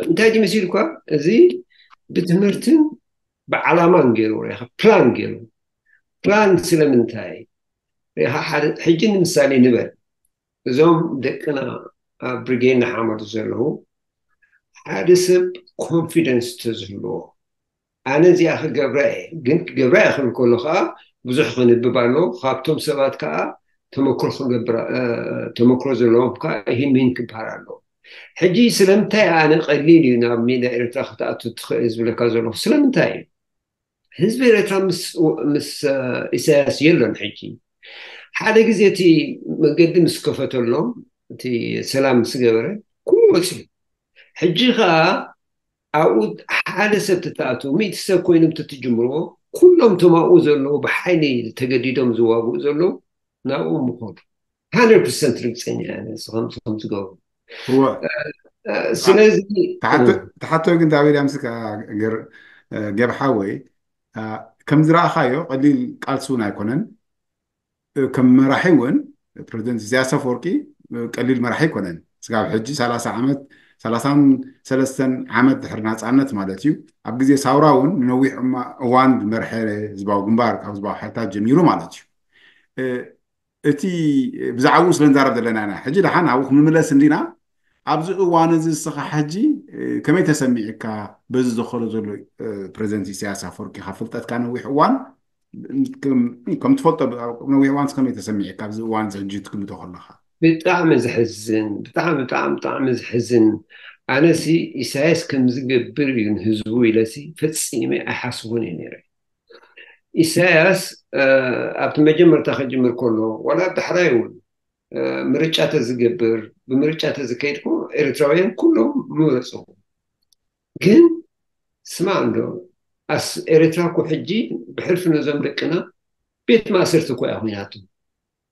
እንታይ ድዩ መሲልኳ? እዚ ብትምህርትን ብዓላማን ገይሩ ሪኢኻ፣ ፕላን ገይሩ። ፕላን ስለምንታይ ሪኢኻ? ሓደ ሕጂ ንምሳሌ ንበል፣ እዞም ደቅና ኣብ ብሪጌድ ንሓመዱ ዘለዉ፣ ሓደ ሰብ ኮንፊደንስ ተዝህልዎ፣ ኣነ እዚኣ ክገብራ እየ፣ ግን ክገብራ እየ ክብል ከሎ ከዓ ብዙሕ ከንብብ ኣለዎ። ካብቶም ሰባት ከዓ ተመክሮ ክገብር እ፣ ተመክሮ ዘለዎም ከዓ ይህን ምሂን ክበሃል ኣለዎ። ሕጂ ስለምንታይ ኣነ ቀሊል እዩ ናብ ሜዳ ኤርትራ ክትኣቱ ትኽእል ዝብለካ ዘለኹ ስለምንታይ እዩ? ህዝቢ ኤርትራ ምስ ምስ እ፣ ኢሳያስ የሎን። ሕጂ ሓደ ግዜ እቲ መገዲ ምስ ከፈተሎም፣ እቲ ሰላም ምስ ገበረ፣ ኩሉ ወፅዩ። ሕጂ ከዓ ኣብኡ ሓደ ሰብ ትተኣትዉ፣ ሚእቲ ሰብ ኮይኖም ትትጅምርዎ፣ ኩሎም እቶም ኣብኡ ዘለዉ ብሓይሊ ተገዲዶም ዝዋግኡ ዘለዉ ናብኡ ምኾዱ። ሃንድረድ ፐርሰንት ርግፀኛ እየ ኣነ፣ ንስኹም ንስኹም ትገብሩ። እወ። እ፣ ስለዚ ተሓቶ ተሓቶ ግን ታቤል ኣምስካ ገር እ፣ ገብ ሓወይ እ፣ ከም ዝረኣኻዮ ቀሊል ቃልሲ እውን ኣይኮነን። እ፣ ከም መራሒ እውን ፕሬዚደንት ኢሳያስ ኣፈወርቂ እ፣ ቀሊል መራሒ ኣይኮነን። ስጋብ ሕጂ ሰላሳ ዓመት፣ ሰላሳን ሰለስተን ዓመት ድሕሪ ናፃነት ማለት እዩ። ኣብ ግዜ ሳውራ እውን ንነዊሕ እማ- እዋን ዝመርሐ ህዝባዊ ግንባር ካብ ህዝባዊ ሓይልታት ጀሚሩ ማለት እዩ። እ፣ እቲ ብዛዕባኡ ስለ ንዛረብ ዘለና ኢና። ሕጂ ደሓን ኣብኡ ክንምለስ እንዲና። ኣብዚ እዋን እዚ እስኻ ሕጂ እ፣ ከመይ ተሰሚዕካ በዚ ዝኸሎ ዘሎ እ፣ ፕሬዚደንት ኢሳያስ ኣፈወርቂ ካብ ፍልጠትካ ነዊሕ እዋን ከም ከም ትፈልጦ ብ- ነዊሕ እዋን ከመይ ተሰሚዕካ ኣብዚ እዋን እዚ ሕጂ ትግምቶ ከለኻ? ብጣዕሚ ዘሕዝን፣ ብጣዕሚ ብጣዕሚ ብጣዕሚ ዘሕዝን። ኣነሲ ኢሳያስ ከም ዝገብር እዩ ንህዝቡ ኢለሲ ፈጺመ ኣይሓስቦን እየ ነይረ። ኢሳያስ እ፣ ኣብቲ መጀመርታ ክጅምር ከሎ ዋላ ዳሕራይ እውን እ፣ ምርጫ ተዝገብር፣ ብምርጫ ተዝከይድ እኮ ኤርትራውያን ኩሎም ምመረፅዎ። ግን ስማዕ እንዶ ኣስ ኤርትራ እኮ ሕጂ ብሕልፊ ነዞም ደቅና ቤት ማእሰርቲ እኮ እያ ኮይናቶ።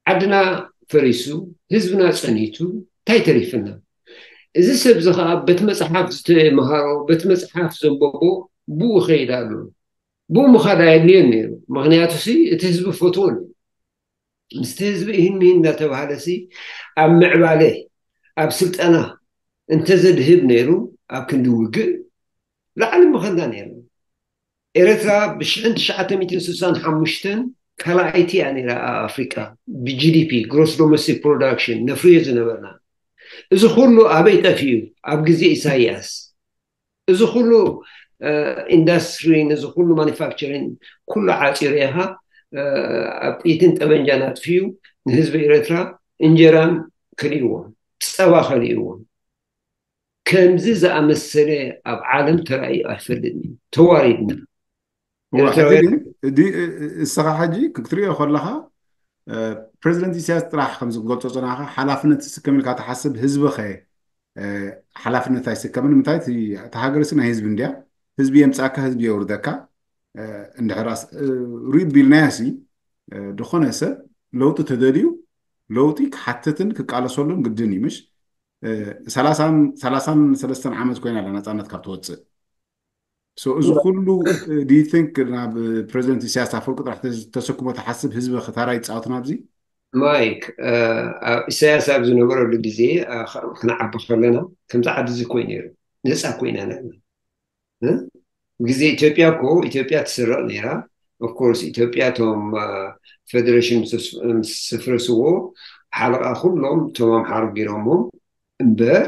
ዓድና ፈሪሱ፣ ህዝብና ጸኒቱ፣ እንታይ ተሪፍና? እዚ ሰብ እዚ ከዓ በቲ መጽሓፍ ዝተምሃሮ፣ በቲ መጽሓፍ ዘንበቦ ብኡ ይኸይድ ኣሎ። ብኡ ምኻድ ኣየድልዮን ነይሩ። ምኽንያቱ ሲ እቲ ህዝቢ ፈትዎ ነይሩ። ምስቲ ህዝቢ እሂን ምሂን እናተባሃለ ሲ ኣብ ምዕባለ ኣብ ስልጠና እንተዘድህብ ነይሩ ኣብ ክንዲ ውግእ ላዕሊ ምኸድና ነይርና። ኤረትራ ብ ሽሕን ትሽዓተ ሚእትን ስሳን ሓሙሽተን ካልኣይቲ እያ ነይራ ኣብ ኣፍሪቃ ብ ጂ ዲ ፒ፣ ግሮስ ዶሜስቲክ ፕሮዳክሽን፣ ነፍርዮ ዝነበርና። እዚ ኩሉ ኣበይ ጠፊኡ? ኣብ ግዜ ኢሳያስ። እዚ ኩሉ ኢንዳስትሪ፣ ነዚ ኩሉ ማኒፋክቸሪንግ ኩሉ ዓፂሩ ኢኻ ኣብ ጥይትን ጠበንጃን ኣጥፊኡ ንህዝቢ ኤረትራ እንጀራን ከሊእዎም፣ ፀባ ከሊእዎም። ከምዚ ዝኣመሰለ ኣብ ዓለም ተራእዩ ኣይፈልጥን እዩ። ተዋሪድና። እዋ፣ ሕጂ ኤርትራውያን ግን ዲ- እስኻ ሕጂ ክትሪኦ ከለኻ እ፣ ፕሬዚደንት ኢሳያስ ጥራሕ ከም ዝገልጾ ጽናኻ ሓላፍነት ዝስከም ኢልካ ትሓስብ ህዝቢ ኸ እ፣ ሓላፍነት ኣይስከምን? ምንታይ እቲ እታ ሃገርሲ ናይ ህዝቢ እንድያ። ህዝቢ የምጻእካ፣ ህዝቢ የውርደካ። እ፣ እንድሕር ኣስ- እ፣ ሪድ ቢልናያሲ እ፣ ዝኾነ ሰብ ለውጢ ተደልዩ ለውጢ ክሓትትን ክቃለሰሉን ግድን እዩ ምሽ? እ፣ ሰላሳን ሰላሳን ሰለስተን ዓመት ኮይና ኣላ ናጻነት ካብ ትወጽእ። So እዚ ኩሉ do you think ናብ ፕሬዚደንት ኢሳያስ ኣፈወርቂ ጥራሕ ተስ- ተሰክሞ ትሓስብ ህዝቢ ክታራ ይፃወት ናብዚ? ማይክ እ፣ ኣብ ኢሳያስ ኣብ ዝነበረሉ ግዜ እ፣ ከ- ክንዓቢ ከለና ከምዚ ዓዲ እዚ ኮይ ነይሩ ነፃ ኮይና ነርና እ? ግዜ ኢትዮጵያ እኮ ኢትዮጵያ ትስረቕ ነይራ። ኦፍኮርስ ኢትዮጵያ እቶም እ፣ ፌደሬሽን ምስ ምስ ስፍረስዎ ሓለቓ ኩሎም እቶም ኣምሓሩ ገይሮሞም እምበር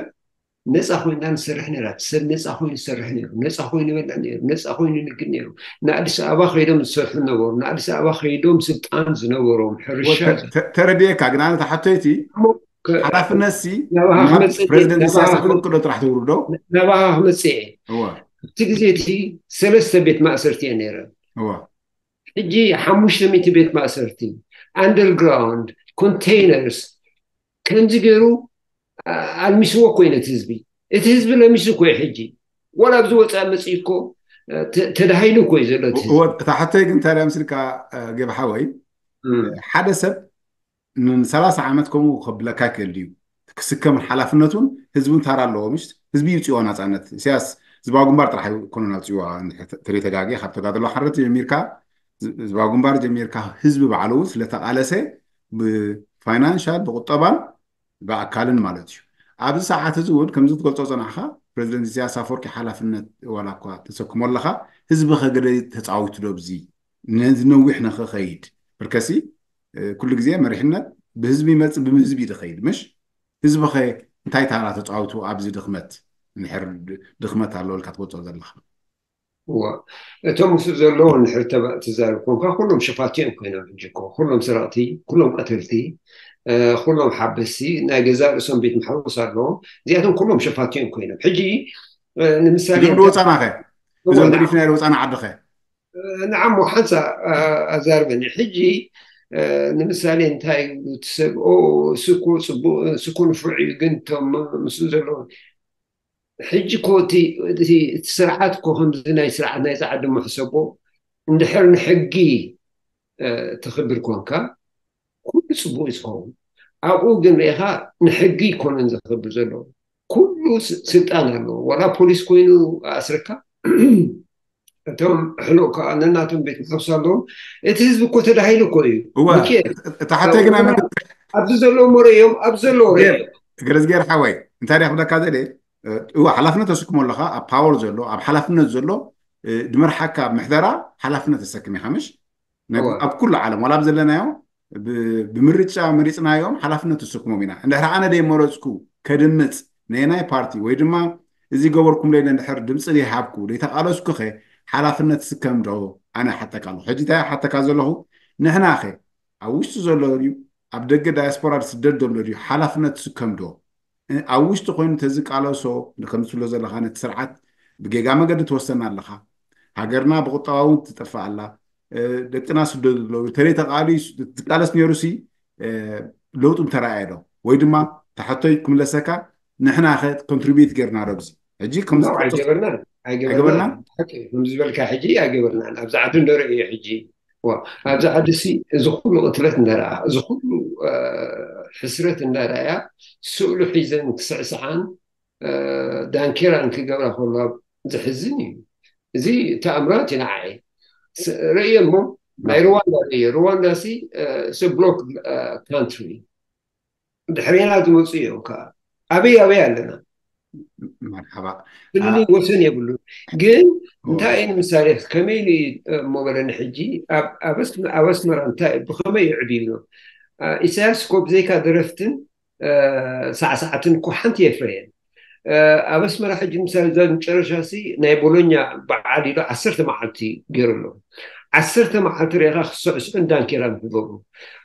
ነፃ ኮይና ንሰርሕ ነይራ። ሰብ ነፃ ኮይኑ ይሰርሕ ነይሩ፣ ነፃ ኮይኑ ይበልዕ ነይሩ፣ ነፃ ኮይኑ ይንግድ ነይሩ። ንኣዲስ ኣበባ ከይዶም ዝሰርሑ ነበሩ። ንኣዲስ ኣበባ ከይዶም ስልጣን ዝነበሮም ሕርሻ ወ- ተ- ተ- ተረድኤካ ግን ኣነ ተሓቶይቲ ከ- ሓላፍነትሲ ናባኻ ናብ ክመፅእ ፕሬዚደንት ናባኻ ኢሳያስ ክመ- ኣፈወርቂ ዶ ጥራሕ ትውርዶ? ናባኻ ክመፅእ እየ። እዋ ኣብቲ ግዜ እቲ ሰለስተ ቤት ማእሰርቲ እየ ነይረ። እዋ ሕጂ ሓሙሽተ ሚእቲ ቤት ማእሰርቲ፣ ኣንደርግራውንድ፣ ኮንቴይነርስ ከምዚ ገይሩ ኣ- ኣልሚስዎ እኮ እዩ ነቲ ህዝቢ። እቲ ህዝቢ ለሚሱ እኮ እዩ ሕጂ። ዋላ ኣብዚ ወፃእ መፅኡ እኮ እ፣ ተ- ተዳሂሉ እኮ እዩ ዘሎ እቲ ህዝቢ። እወ፣ እታ ሕቶይ ግን ታዲያ ምስልካ እ፣ ገብ ሓወይ እም። ሓደ ሰብ ንሰላሳ ዓመት ከምኡ ከብለካ ይክእል ድዩ? እቲ ክስከምን ሓላፍነቱን ህዝቢ ታራ ኣለዎ። ምሽ ህዝቢ ይውፅዎ ናፃነት። ኢሳያስ ህዝባዊ ግንባር ጥራሕ ኣይኮነን ኣውፅዎ። ተሪተጋጊ ካብ ተጋድሎ ሓረት ጀሚርካ፣ ህዝባዊ ግንባር ጀሚርካ፣ ህዝቢ ባዕሉ እውን ስለተቃለሰ ብፋይናንሻል፣ ብቁጠባን ብኣካልን ማለት እዩ። ኣብዚ ሰዓት እዚ እውን ከምዚ ትገልጾ ጸናሕካ፣ ፕሬዚደንት ኢሳያስ ኣፈወርቂ ሓላፍነት ዋላ እኳ ተሰክሞ ኣለካ፣ ህዝቢ ከገደ ተፃዊቱ ዶ ብዚ ነዚ ነዊሕ ንክኸይድ? ብርከሲ ኩሉ ግዜ መሪሕነት ብህዝቢ ይመፅእ፣ ብህዝቢ እዩ ዝኸይድ። ምሽ ህዝቢ ኸ እንታይ ታራ ተፃዊቱ ኣብዚ ድኽመት? እንድሕር ድኽመት ኣሎ ኢልካ ትገልጾ ዘለካ? እዋ፣ እቶም ምስኡ ዘለዉ እንድሕር ተባ- ትዛረብ ኮንካ፣ ኩሎም ሸፋቲኦም ኮይኖም። ሕጂ እኮ ኩሎም ሰረቕቲ፣ ኩሎም ቀተልቲ፣ እ፣ ኩሎም ሓበስቲ፣ ናይ ገዛእ ርእሶም ቤት ማሕቡስ ኣለዎም። እዚኣቶም ኩሎም ሸፋቲኦም ኮይኖም። ሕጂ እ፣ ንምሳሌ እዞም ድወፃና ኸ? እዞም ገዲፍና ድወፃና ዓዲ ኸ? ንዓሞ ሓንሳ ኣዛርበኒ። ሕጂ እ፣ ንምሳሌ እንታይ ይብሉ እቲ ሰብ፣ ኦ፣ እሱ እኮ ፅቡቅ፣ እሱ እኮ ንፉዕ እዩ፣ ግን እቶም ምስኡ ዘለዉ። ሕጂ እኮ እቲ እቲ እቲ ስርዓት እኮ ከምዚ ናይ ስርዓት ናይ ፃዕዲ ምሕሰቦ እንድሕር ንሕጊ እ፣ ተኽብር ኮንካ፣ ኩሉ ፅቡቅ እዩ ዝኸውን። ኣብኡ ግን ርኢኻ፣ ንሕጊ ይኮነን ዘኽብር ዘሎ፣ ኩሉ ስ- ስልጣን ኣለዎ። ዋላ ፖሊስ ኮይኑ ኣስርካ፣ እቶም ሕሉቅ ከዓ ነናቶም ቤት ማሕብስ ኣለዎም። እቲ ህዝቢ እኮ ተዳሂሉ እኮ እዩ። እወ፣ ሚኪኤል፣ እታ ሓተይ ግን ኣይመለስ- ኣብዚ ዘለዉ መረዮም፣ ኣብዚ ዘለዉ ረዮም። ገረዝጌር ሓወይ፣ እንታይ ዲኣ ክብለካ ዘለ? እወ፣ ሓላፍነት ተሰክሞ ኣለካ። ኣብ ፓወር ዘሎ፣ ኣብ ሓላፍነት ዘሎ፣ እ፣ ድመርሓካ ኣብ ምሕደራ ሓላፍነት ተሰክም ኢኻ። ምሽ ነብ- እወ። ኣብ ኩሉ ዓለም ዋላ ኣብ ዘለናዮ ብ- ብምርጫ መሪፅናዮም ሓላፍነት ተሰክሞም ኢና። እንድሕር ኣነ ደይመረፅኩ ከድምፅ ነየናይ ፓርቲ ወይ ድማ እዚ ገበርኩም ለይለ እንድሕር ድምፂ ዘይሃብኩ ደይተቃለስኩ ኸ ሓላፍነት ስከም ዶ? ኣነ ሓተካ ኣለኹ። ሕጂ እንታይ ሓተካ ዘለኹ? ንሕና ኸ ኣብ ውሽጢ ዘሎ ድዩ ኣብ ደገ ዳያስፖራ ስደት ዘሎ ድዩ ሓላፍነት ስከም ዶ? እ፣ ኣብ ውሽጢ ኮይኑ ተዝቃለሶ ንከምስሎ ዘለካ ነቲ ስርዓት ብጌጋ መገዲ ትወሰና ኣለካ። ሃገርና ብቁጠባዊ እውን ትጠፍእ ኣላ። እ፣ ደቅና ስደት ዘለዉ ተለይ ተቃሊ ዝቃለስ ነይሩ ሲ እ፣ ለውጡ እንተረኣየ ዶ? ወይ ድማ ተሓቶይ ክምለሰካ ንሕና ከ ኮንትሪቢዩት ጌርና ዶ ኣብዚ? ሕጂ ከም ኖ፣ ዝትገልጾ ኣይገበርናን ኣይገበርናን ኣይገበርናን? ሓቂ እዩ። ከምዚ ዝበልካ ሕጂ ኣይገበርናን። ኣብዚ ዓዲ እንደረእዮ ሕጂ፣ ዋ፣ ኣብዚ ዓዲ ሲ እዚ ኩሉ ቅትለት እንዳረኣ፣ እዚ ኩሉ እ፣ ሕስረት እንዳረኣያ፣ ስእሉ ሒዘን ክስዕስዓን እ፣ ዳንኬራን ክገብራ ከለዋ ዘሕዝን እዩ። እዚ ተኣምራት እዩ ንዓይ። ስ- ርእየ እሞ ናይ ሩዋንዳ ርእየ። ሩዋንዳ ሲ ብሎክ ካንትሪ፣ ድሕሬና ዝመፁ እዮም ከዓ። ኣበይ ኣበይ ኣለና? መርሓባ። ክልል ወሰን የብሉ። ግን እንታይ እዩ ንምሳሌ ከመይ ኢሉ እዩ እሞ በለኒ። ሕጂ ኣብ- ኣብ ኣስ- ኣብ ኣስመራ እንታይ ብኸመይ ይዕብዩ? ኢሳያስ እኮ ብዘይካ ደረፍትን እ፣ ሳዕሳዕትን እኮ ሓንቲ የፍረየን። እ፣ ኣብ ኣስመራ ሕጂ ምሳሌ እዛ መጨረሻ ሲ ናይ ቦሎኛ በዓል ኢሉ ዓሰርተ መዓልቲ ገይሩ ኣሎ። ዓሰርተ መዓልቲ ርኢኻ ክስዕስዑን ዳንኬራን ክገብሩ።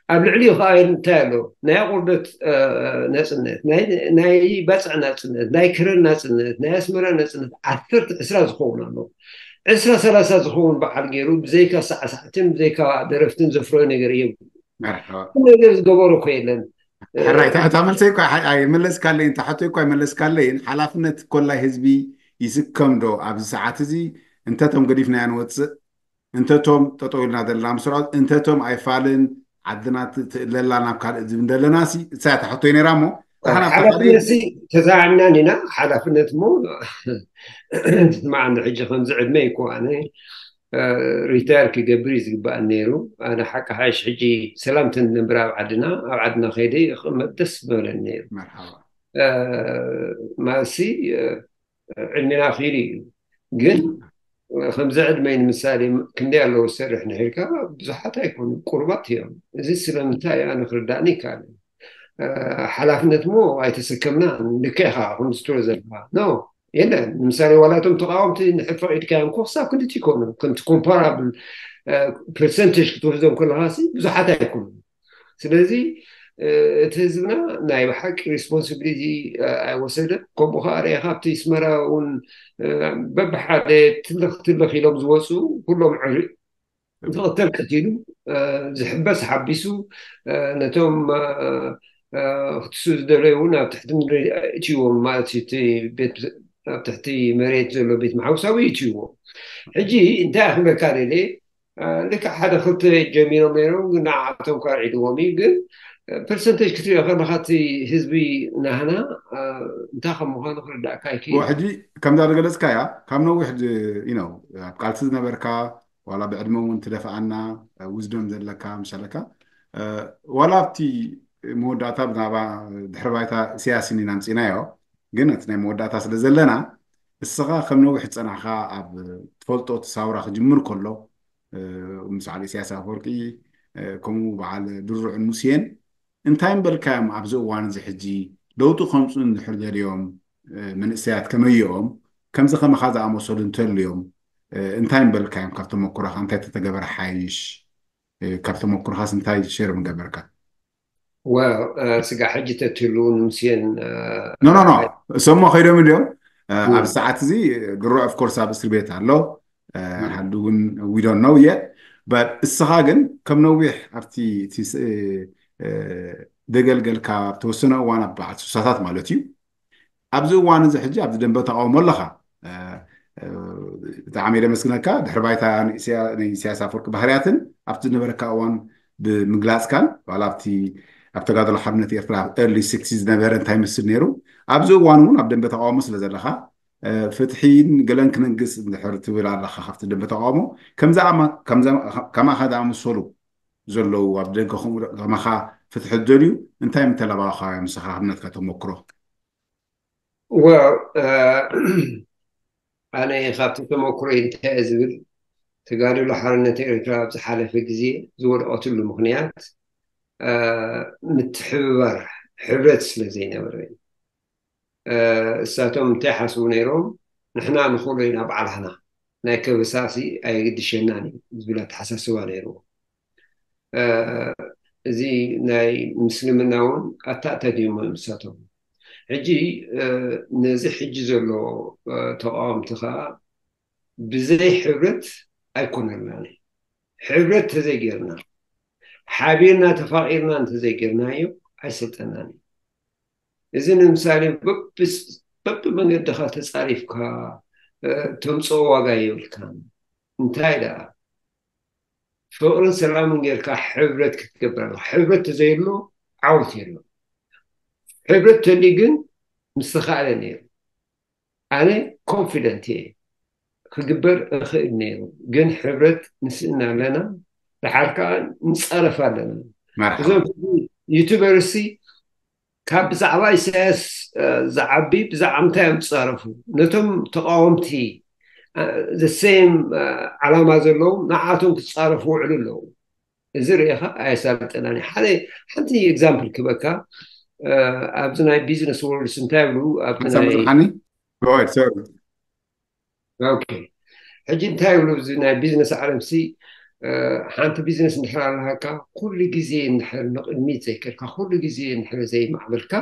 ኣብ ልዕሊኡ ከዓ እንታይ ኣሎ? ናይ ኣቑርደት እ፣ ናጽነት፣ ናይ ናይ ባጽዕ ናጽነት፣ ናይ ከረን ናጽነት፣ ናይ ኣስመራ ናጽነት ዓሰርተ ዕስራ ዝኸውን ኣሎ። ዕስራ ሰላሳ ዝኸውን በዓል ገይሩ ብዘይካ ሳዕሳዕትን ብዘይካ ደረፍትን ዘፍረዮ ነገር የብሉ። መርሓባ። ነገር ዝገበሮ እኮ የለን። ሕራይ እታ እታ መልሰይ እኳ ኣይ- ኣይመለስካለይን፣ እታ ሕቶይ እኳ ኣይመለስካለይን። ሓላፍነት ኮላይ ህዝቢ ይስከም ዶ ኣብዚ ሰዓት እዚ? እንተቶም ገዲፍናዮ ንወፅእ፣ እንተቶም ጠጠው ኢልና ዘለና ምስራዝ፣ እንተቶም ኣይፋልን ዓድና ት- ትእለላ ናብ ካልእ ዝብል እንደለና ሲ እሳ እታ ሕቶይ ነይራ እሞ ንሕና ሓላፍነት ሲ ተዛዕምናን ኢና። ሓላፍነት እሞ ትስማዓኒ። ሕጂ ከምዚ ዕድመ ይኮ ኣነ እ፣ ሪታየር ክገብር እዩ ዝግባእ ነይሩ። ኣነ ሓቂ ሓሽ ሕጂ ሰላም ተንነብር ኣብ ዓድና፣ ኣብ ዓድና ከይደ ክቕመጥ ደስ ዝበለን ነይሩ። መርሓባ። እ፣ ማሲ እ፣ ዕድሜና ክኢሉ እዩ። ግን እ፣ ከምዚ ዕድመይ ንምሳሌ ክንደይ ኣለዉ ዝሰርሕ ንሒልካ ብዙሓት ኣይኮኑ፣ ቁሩባት እዮም። እዚ ስለምንታይ ኣነ ክርዳእኒ ይከኣል። እ፣ ሓላፍነት እሞ ኣይተሰከምና። ልክዕ ኢኻ ከምዚ ትብሎ ዘለኻ ኖ የለን። ንምሳሌ ዋላ እቶም ተቃወምቲ ንሕድ ፈቂድካዮም እኮ ክሳብ ክንድቲ ይኮኑ። ከምቲ ኮምፓራብል ፐርሰንቴጅ ክትወስዶም ከለካ ሲ ብዙሓት ኣይኮኑ። ስለዚ እ፣ እቲ ህዝብና ናይ ብሓቂ ሪስፖንሲቢሊቲ ኣይወሰደን። ከምኡ ከዓ ርኤ ካብቲ ስመራ እውን እ፣ በብሓደ ትልኽ ትልኽ ኢሎም ዝወፁ ኩሎም ዕሪ ዝቕተል ቀቲሉ እ፣ ዝሕበስ ሓቢሱ እ፣ ነቶም እ፣ እ፣ ክትሱ ዝደለዩ እውን ኣብ ትሕቲ ምድሪ እትይዎም ማለት እዩ። እቲ ቤት ኣብ ትሕቲ መሬት ዘሎ ቤት መሓውሳዊ እትይዎም። ሕጂ እንታይ ክብለካ ደልየ እ፣ ልክዕ ሓደ ክልተ ጀሚሮም ነይሮም፣ ግን ንዓኣቶም ካርዒድዎም እዩ። ግን ፐርሰንቴጅ ክትሪኦ ከለካ እቲ ህዝቢ ናህና እንታይ ከም ምኳኑ ክርዳእካ ይክእል። ሕጂ ከምዛ ዝገለፅካያ ካብ ነዊሕ ዩ ነው ኣብ ቃልሲ ዝነበርካ ዋላ ብዕድመ እውን ትደፍኣና ውዝደም ዘለካ ምሻለካ ዋላ ኣብቲ መወዳእታ ብዛዕባ ድሕሪ ባይታ ኢሳያስ ኢና ኣምፂናዮ ግን እቲ ናይ መወዳእታ ስለ ዘለና እስኻ ከም ነዊሕ ዝፀናሕካ ኣብ ትፈልጦ እቲ ሳውራ ክጅምር ከሎ ምስ በዓል ኢሳያስ ኣፈወርቂ ከምኡ በዓል ድሩዕን ሙሴን እንታይ ምበልካዮም ኣብዚ እዋን እዚ ሕጂ ለውጢ ከምፁ እንድሕር ደልዮም መንእሰያት ከመይኦም ከምዚ ከማኻ ዝኣመሰሉ እንተልዮም እንታይ ምበልካዮም ካብ ተመኩሮኻ እንታይ ተተገበረ ሓይሽ ካብ ተመኩሮኻስ እንታይ ሸር ምገበርካ ስጋ ሕጂ ተትህሉ ንምስየን ኖ ኖ ኖ እሶሞ ከይዶም እንዲዮም ኣብ ሰዓት እዚ ድሮ ኦፍኮርስ ኣብ እስር ቤት ኣሎ ሓዲ እውን ዊዶን ነው የት እስኻ ግን ከም ነዊሕ ኣብቲ ደገልገልካ ተወሰነ እዋን ኣብ በዓል ሱሳታት ማለት እዩ ኣብዚ እዋን እዚ ሕጂ ኣብዚ ደንበ ተቃውሞ ኣለኻ ብጣዕሚ የመስግነካ ድሕሪ ባይታ ንኢሳያስ ኣፈወርቂ ባህርያትን ኣብቲ ዝነበረካ እዋን ብምግላፅካን ዋላ ኣብቲ ኣብ ተጋድሎ ሓርነት ኤርትራ ኣብ ኤርሊ ስክስቲ ዝነበረ እንታይ መስል ነይሩ ኣብዚ እዋን እውን ኣብ ደንበ ተቃውሞ ስለ ዘለካ ፍትሒን ገለን ክነግስ እንድሕር ትብል ኣለካ ካብቲ ደንበ ተቃውሞ ከማኻ ዝኣመሰሉ ዘለዉ ኣብ ደገ ከማኻ ፍትሒ ዝደልዩ እንታይ ምተለባባኻዮም ንስኻ ክምነትካ ተመክሮ Well ኣነ ካብቲ ተመክሮይ እንታይ እየ ዝብል ተጋድሎ ሓርነት ኤርትራ ኣብ ዝሓለፈ ግዜ ዝወደቐትሉ ምኽንያት ምትሕብባር ሕብረት ስለ ዘይነበረ እዩ እሳቶም እንታይ ሓስቡ ነይሮም ንሕና ንኽእሎ ኢና ባዕላህና ናይ ከበሳሲ ኣየግድሸናን እዩ ዝብል ኣተሓሳስባ ነይርዎ እዚ ናይ ምስልምና እውን ኣታእታጊሞ እዮም እሳቶም ሕጂ ነዚ ሕጂ ዘሎ ተቃወምቲ ከዓ ብዘይ ሕብረት ኣይኮነልናን ሕብረት ተዘይጌርና ሓቢርና ተፋቂርና እንተዘይጌርናዮ ኣይሰልጠናን እዩ እዚ ንምሳሌ በቢ መንገድኻ ተፃሪፍካ ተምፅኦ ዋጋ የብልካን እንታይ ደኣ ፍቅርን ሰላምን ጌርካ ሕብረት ክትገብር ኣለካ ሕብረት ተዘይሎ ዓወት የሎ ሕብረት ተልዩ ግን ምስተካእለ ነይሩ ኣነ ኮንፊደንት እየ ክግበር እኽእል ነይሩ ግን ሕብረት ንስእና ኣለና ድሓር ከዓ ንፃረፍ ኣለና እዞም ዩቱበርሲ ካብ ብዛዕባ ኢሳያስ ዝዓቢ ብዛዕባ ምንታይ እዮም ዝፃረፉ ነቶም ተቃወምቲ the same ዓላማ ዘለዎም ንዓቶም ክፃረፉ ውዕሉ ኣለዉ እዚ ርኢኻ ኣየሳልጠናን ሓደ ሓንቲ example ክበካ ኣብዚ ናይ business world እንታይ ይብሉ ኣብቲ ናይ ሓኒ ሕጂ እንታይ ይብሉ እዚ ናይ ቢዝነስ ዓለም ሲ ሓንቲ ቢዝነስ እንድሕር ኣለሃካ ኩሉ ግዜ እንድሕር ንቅድሚት ዘይከድካ ኩሉ ግዜ እንድሕር ዘይማዕበልካ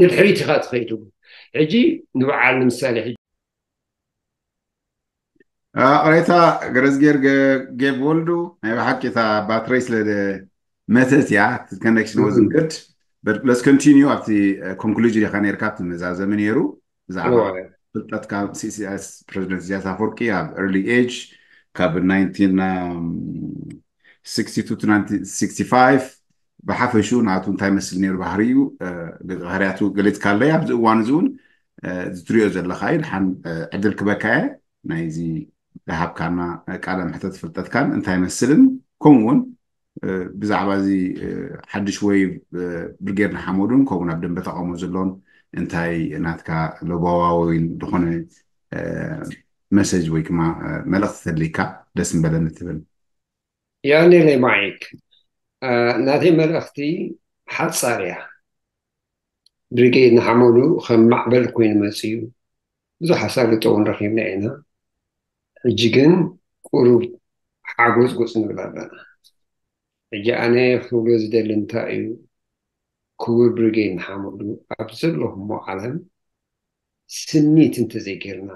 ንድሕሪት ኢኻ ትኸይድ ሕጂ ንበዓል ንምሳሌ ሕጂ ቅሬታ ገረዝጌር ጌብ ወልዱ ናይ ብሓቂ እታ ባትረይ ስለ መተት እያ connection wasn't good but let's continue ኣብቲ conclusion ኢኻ ነርካ ኣብቲ መዛዘሚ ነይሩ ብዛዕባ ፍልጠትካ ፕሬዚደንት ኢሳያስ ኣፈወርቂ ኣብ early age ካብ nineteen sixty-two to nineteen sixty-five ብሓፈሽኡ ናቱ እንታይ መስል ነይሩ ባህርዩ ባህርያቱ ገሊፅካለይ ኣብዚ እዋን እዚ እውን ዝትሪኦ ዘለካ እዩ ድሓን ዕድል ክበካ እየ ናይዚ ዝሃብካና ቃለ ምሕተት ፍልጠትካን እንታይ መስልን ከምኡ እውን ብዛዕባ እዚ ሓድሽ ወይ ብርጌድ ንሓመዱን ከምኡ ናብ ደንበ ተቃውሞ ዘሎን እንታይ ናትካ ለባዋዊን ዝኾነ መሰጅ ወይ ድማ መልእክቲ ተልካ ደስ ምበለኒ ትብል ያኔለይ ማይክ ናተይ መልእክቲ ሓፃር እያ ብሪጌድ ንሓመዱ ከም ማዕበል ኮይኑ መፅዩ ብዙሕ ኣሳልጦ እውን ረኪብና ኢና ሕጂ ግን ቁሩብ ሓጎፅጎፅ ንብል ኣለና ሕጂ ኣነ ክብሎ ዝደሊ እንታይ እዩ ክቡር ብሪጌድ ንሓመዱ ኣብ ዘለኹሞ ዓለም ስኒት እንተዘይጌርና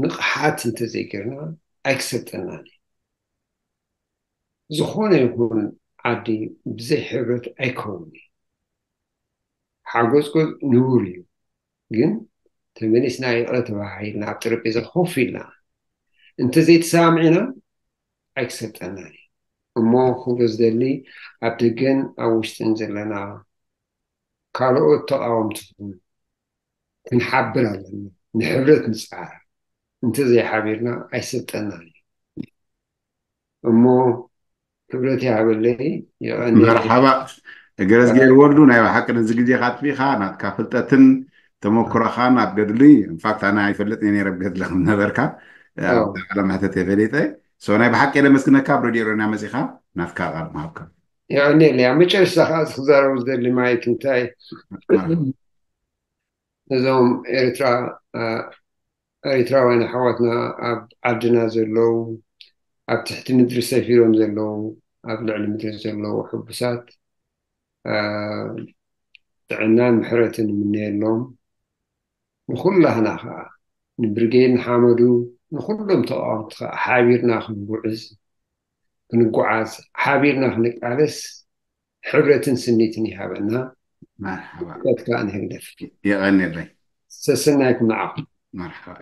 ንቕሓት እንተዘይጌርና ኣይክሰልጠናን እዩ ዝኾነ ይኹን ዓዲ ብዘይ ሕብረት ኣይከውን እዩ ሓጎፅጎፅ ንቡር እዩ ግን ተመሊስና ይቕረ ተባሂልና ኣብ ጠረጴዛ ኮፍ ኢልና እንተዘይተሰማሚዕና ኣይክሰልጠናን እዩ እሞ ክብሎ ዝደሊ ኣብ ደገን ኣብ ውሽጥን ዘለና ካልኦት ተቃወምቲ ክንሓብር ኣለና። ንሕብረት ንፅዓር። እንተዘይሓቢርና ኣይሰልጠናን እዩ። እሞ ክብረት ይሃበለይ። የቐንየለይ። መርሓባ ገረዝጌር ወልዱ፣ ናይ ብሓቂ ነዚ ግዜኻ ኣጥፊእኻ ናትካ ፍልጠትን ተመክሮኻን ኣብ ገድሊ፣ ኢንፋክት ኣነ ኣይፈልጥን እየ ነይረ ኣብ ገድሊ ከም ነበርካ። ኣዎ። ቃለ መሕተት የፈሊጠ። ሶ ናይ ብሓቂ የለመስግነካ ኣብ ሬድዮ ኦሮንያ መጺኻ ናትካ ቃል ምሃብካ። የቐንየለይ። ኣብ መጨረሽታ ከዓ ክዛረቡ ዝደሊ ማይክ እንታይ እዞም ኤርትራ ኤርትራውያን ኣሕዋትና ኣብ ዓድና ዘለዉ፣ ኣብ ትሕቲ ምድሪ ሰፊሮም ዘለዉ፣ ኣብ ልዕሊ ምድሪ ዘለዉ ሕቡሳት ጥዕናን ምሕረትን ንምነየሎም። ንኩላህና ከዓ ንብርጌድ ንሓመዱ ንኩሎም ተቃወምቲ ከዓ ሓቢርና ክንጉዕዝ ክንጓዓዝ ሓቢርና ክንቃለስ ሕብረትን ስኒትን ይሃበና። መርሓባ ቀት ከዓ ንህግደፍ። የቐንየለይ። ሰሰናይኩም ንዓኹም። መርሓባ።